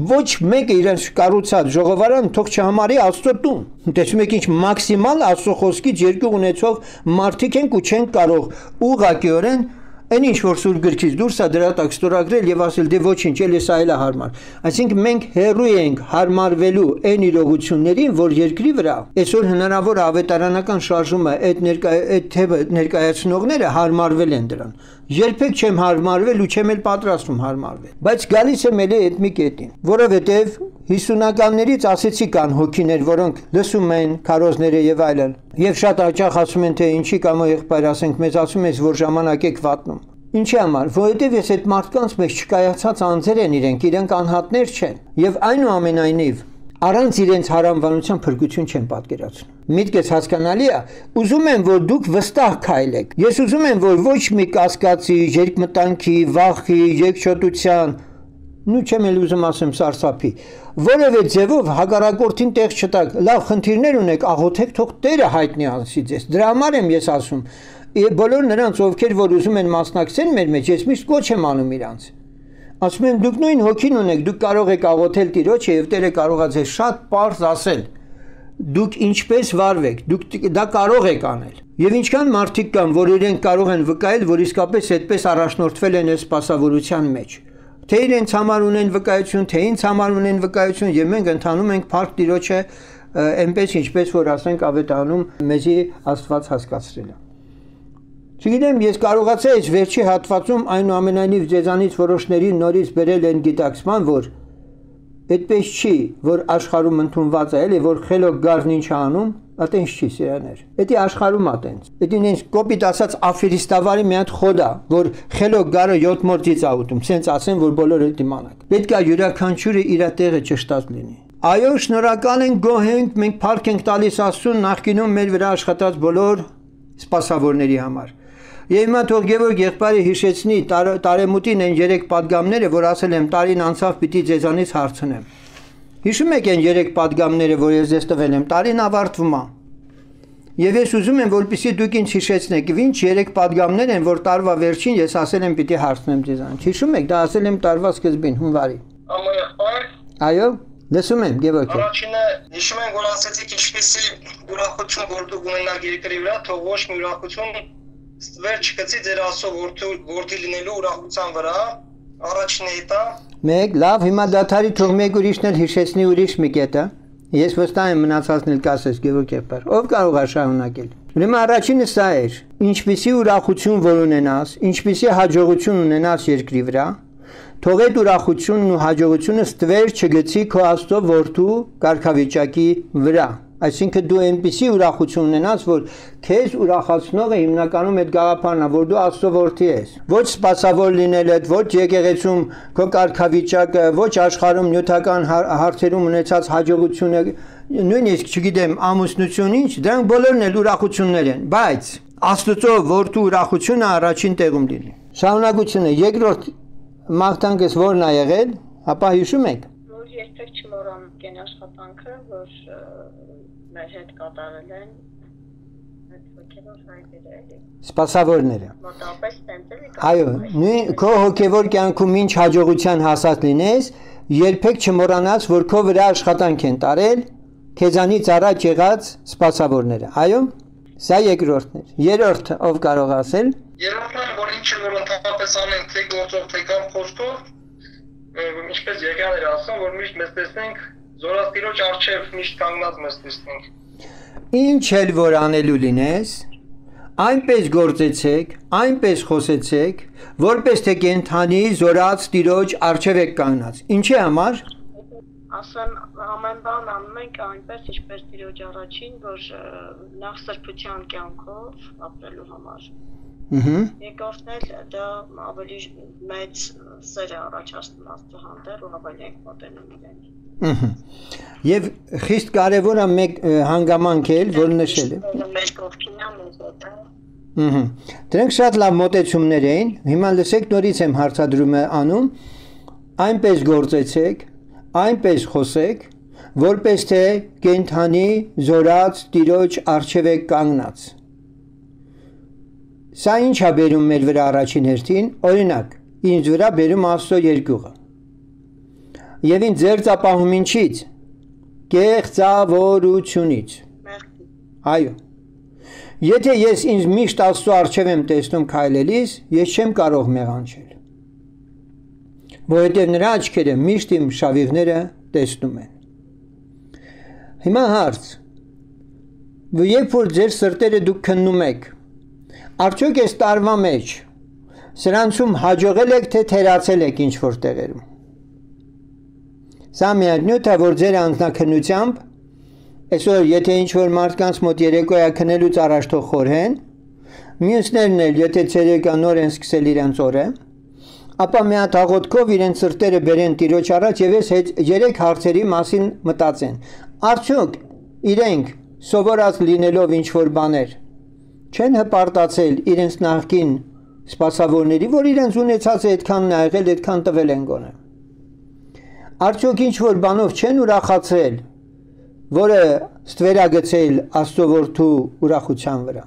Ոչ մեկը իրանց կառուցած ժողովարան թող չհամարի Աստծո տուն։ Տեսնում եք ինչ մաքսիմալ Աստծո խոսքից երկու ունեցող մարդիկ են ու չեն կարող ուղղակիորեն Այն ինչ որ սուր գրքից դուրս է դրա տակ ստորագրել եւ ասել դե ոչինչ, էլի սա էլ է հարմար։ Այսինքն մենք հերույ ենք հարմարվելու այն իրողություններին, որ երկրի վրա այսօր հնարավոր ավետարանական շարժումը այդ ներկայ այդ թեւը ներկայացնողները հարմարվել են դրան։ Երբեք չեմ հարմարվել ու չեմ էլ պատրաստվում հարմարվել։ Բայց գալիս եմ էլի այդ մի կետին, որովհետեւ հիսունականներից ասեցի կան հոգիներ, որոնք լսում են քարոզները եւ այլն։ Եվ շատ հաճախ ասում են թե ինչի կամ եղբայր ասենք մեզ ասում ես որ ժամանակ եք վատնում։ Ինչի համար, որովհետև ես այդ մարդկանց մեջ չկայացած անձեր են իրենք, իրենք անհատներ չեն, եւ այնուամենայնիվ առանց իրենց հարանվանության փրկություն չեն պատկերացնում։ Միտքս հասկանալի է, ուզում եմ որ դուք վստահ քայլեք։ Ես ուզում եմ որ ոչ մի կասկածի, երկմտանքի, վախի, երկչոտության, նու չեմ էլ ուզում ասեմ սարսափի, որևէ ձևով հակառակորդին տեղ չտակ, լավ խնդիրներ ունեք, աղոթեք, թող Տերը հայտնի անցի ձեզ։ Դրա համար եմ ես ասում, բոլոր նրանց ովքեր որ ուզում են մասնակցել մեր մեջ, ես միշտ կոչ եմ անում իրանց։ Ասում եմ դուք նույն հոգին ունեք, դուք կարող եք աղոթել Տիրոջը եւ Տերը կարող է ձեզ շատ պարզ ասել։ Դուք ինչպես վարվեք, դուք դա կարող եք անել։ Եվ ինչքան մարդիկ կան, որ իրենք կարող են վկայել, որ իսկապես այդպես առաջնորդվել են այս սպասավորության մեջ։ Թե իրենց համար ունեն վկայություն, թե ինձ համար ունեն վկայություն, եւ մենք ընթանում ենք Փառք Տիրոջը այնպես ինչպես որ ասենք ավետարանում մեզի Աստված հասկացրել է։ Չգիտեմ, ես կարողացա այս վերջի հատվածում այնուամենայնիվ ձեզանից որոշների նորից բերել են գիտակցման, որ այդպես չի, որ աշխարհում ընդունված է, էլի որ խելոք գարն ինչ անում, այտենց չի սերաներ։ Դա աշխարհում է տենց։ Դա ինձ կոպիտ ասած աֆերիստավարի մի հատ խոդ է, որ խելոք գարը յոթ մորձից է ուտում, սենց ասեն, որ բոլորը դիմանակ։ Պետք է յուրաքանչյուրը իր տեղը ճշտած լինի։ Այո, շնորհակալ ենք, գոհ ենք, մենք փառք ենք տալիս Աստծուն նախկինում մեր վրա աշխատած բոլոր սպասավորների համար։ Եվ հիմա թող Գևորգ եղբայրը հիշեցնի տարեմուտին այն երեք պատգամները, որ ասել եմ տարին անցավ պիտի ձեզանից հարցնեմ։ Հիշում եք այն երեք պատգամները, որ ես ձեզ տվել եմ, տարին ավարտվում է։ Եվ ես ուզում եմ, որպեսզի դուք ինձ հիշեցնեք, ինչ երեք պատգամներ են, որ տարվա վերջին ես ասել եմ պիտի հարցնեմ ձեզանից։ Հիշում եք, դա ասել եմ տարվա սկզբին, հունվարի։ Այո, լսում եմ, Գևորգ։ Առաջինը հիշում եմ, որ ասացիք ինչպեսի ուրախություն որ դուք ունենաք երկրի վրա, թող ոչ մի ուրախություն ստվեր չկցի ձեր Աստծո որդի լինելու ուրախության վրա, առաջինը դա։ Մեկ, լավ, հիմա դաթարի թող մեկ ուրիշն էլ հիշեցնի ուրիշ մի կետը։ Ես վստահ եմ մնացածն էլ կասես Գևորգ եղբայր։ Ով կարող է շարունակել։ Ուրեմն առաջինը սա էր. ինչպիսի ուրախություն որ ունենաս, ինչպիսի հաջողություն ունենաս երկրի վրա, թող այդ ուրախությունն ու հաջողությունը ստվեր չգցի քո Աստծո որդու կարգավիճակի վրա։ Այսինքն դու այնպիսի ուրախություն ունենաս, որ քեզ ուրախացնողը հիմնականում այդ գաղափարն է, որ դու Աստծո որդի ես։ Ոչ սպասավոր լինելդ, ոչ եկեղեցում քո կարգավիճակը, ոչ աշխարհում նյութական հարցերում ունեցած հաջողությունը, նույնիսկ չգիտեմ, ամուսնություն ինչ, դրանք բոլորն էլ ուրախություններ են, բայց Աստծո որդու ուրախությունը առաջին տեղում լինի։ Շարունակությունը երկրորդ մաղթանքս որն է եղել, ապա հիշում եք։ Որ երբեք չմոռան կեն աշխատանքը, որ մեր հետ կատարել են այդ հոգևոր հայրերը էլի։ Սպասավորները։ Մոտավորապես տենց էլի։ Այո, նույն քո հոգևոր կյանքում ինչ հաջողության հասած լինես, երբեք չմոռանաս, որ քո վրա աշխատանք են տարել քեզանից առաջ եղած սպասավորները։ Այո, սա երկրորդն էր։ Երրորդը ով կարող ասել։ Երրորդն որ ինչը որ ընդհանրապես անեն թե գործով թե կամ խոսքով, ինչպես եկան էր ասում, որ միշտ մեզ տեսնենք Զորաստիրոջ արչև միշտ կանգնած մեզ տեսնենք։ Ինչ էլ որ անելու լինես, այնպես գործեցեք, այնպես խոսեցեք, որպես թե կենթանի զորած Տիրոջ արչև եք կանգնած։ Ինչի համար։ Ասեն ամեն բան անում ենք այնպես ինչպես Տիրոջ առաջին, որ նախ սրբության կյանքով ապրելու համար։ Ահա։ Երկրորդն էլ դա ավելի մեծ սեր է առաջացնում Աստծո հանդեպ ու ավելի ենք մոտենում իրեն։ Ահա։ Եվ խիստ կարևոր է մեկ հանգամանք էլ, որ նշել է։ Մեր կողքին է մեզ դա։ Ահա։ Դրանք շատ լավ մոտեցումներ էին։ Հիմա լսեք նորից եմ հարցադրումը անում։ Այնպես գործեցեք, այնպես խոսեք, որպես թե կենթանի զորած Տիրոջ արչև եք կանգնած։ Սա ինչ է բերում մեր վրա առաջին հերթին, օրինակ, ինձ վրա բերում Աստծո երկյուղը։ Եվ ինձ ձերծապահում ինչից։ Կեղծավորությունից։ Այո։ Եթե ես ինձ միշտ Աստծո առջև եմ տեսնում քայլելիս, ես չեմ կարող մեղանչել։ Որովհետև նրա աչքերը միշտ իմ շավիղները տեսնում են։ Հիմա հարց. երբ որ ձեր սրտերը դուք քննում եք, արդյոք այս տարվա մեջ սրանցում հաջողել եք, թե թերացել եք ինչ-որ տեղերում։ Սա միայն նյութ է, որ ձեր անձնաքննությամբ այսօր եթե ինչ-որ մարդկանց մոտ երեկոյա քնելուց առաջ թող խորհեն, մյուսներն էլ եթե ցերեկա նոր են սկսել իրենց օրը, ապա մի հատ աղոթքով իրենց սրտերը բերեն Տիրոջ առաջ եւ այս երեք հարցերի մասին մտածեն։ Արդյոք իրենք սովորած լինելով ինչ-որ բաներ չեն հպարտացել իրենց նախկին սպասավորների, որ իրենց ունեցած է այդքանն է եղել, այդքան տվել են գոնե։ Արդյոք ինչ-որ բանով չեն ուրախացել, որը ստվերագցել Աստծո որդու ուրախության վրա։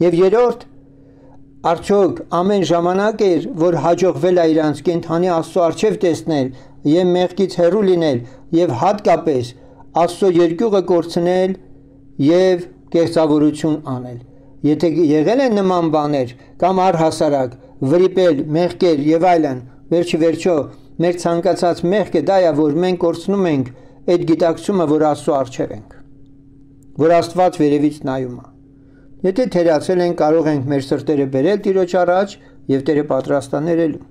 Եվ երրորդ, արդյոք ամեն ժամանակ էր, որ հաջողվել է իրանց կենդանի Աստծո առջև տեսնել եւ մեղքից հեռու լինել եւ հատկապես Աստծո երկյուղը կորցնել եւ կեղծավորություն անել։ Եթե եղել են նման բաներ կամ առհասարակ վրիպել, մեղքեր եւ այլն, վերջի վերջո մեր ցանկացած մեղքը դա է, որ մենք կորցնում ենք այդ գիտակցումը, որ Աստծո առջև ենք, որ Աստված վերևից նայում է։ Եթե թերացել ենք, կարող ենք մեր սրտերը բերել Տիրոջ առաջ եւ Տերը պատրաստ է ներելու։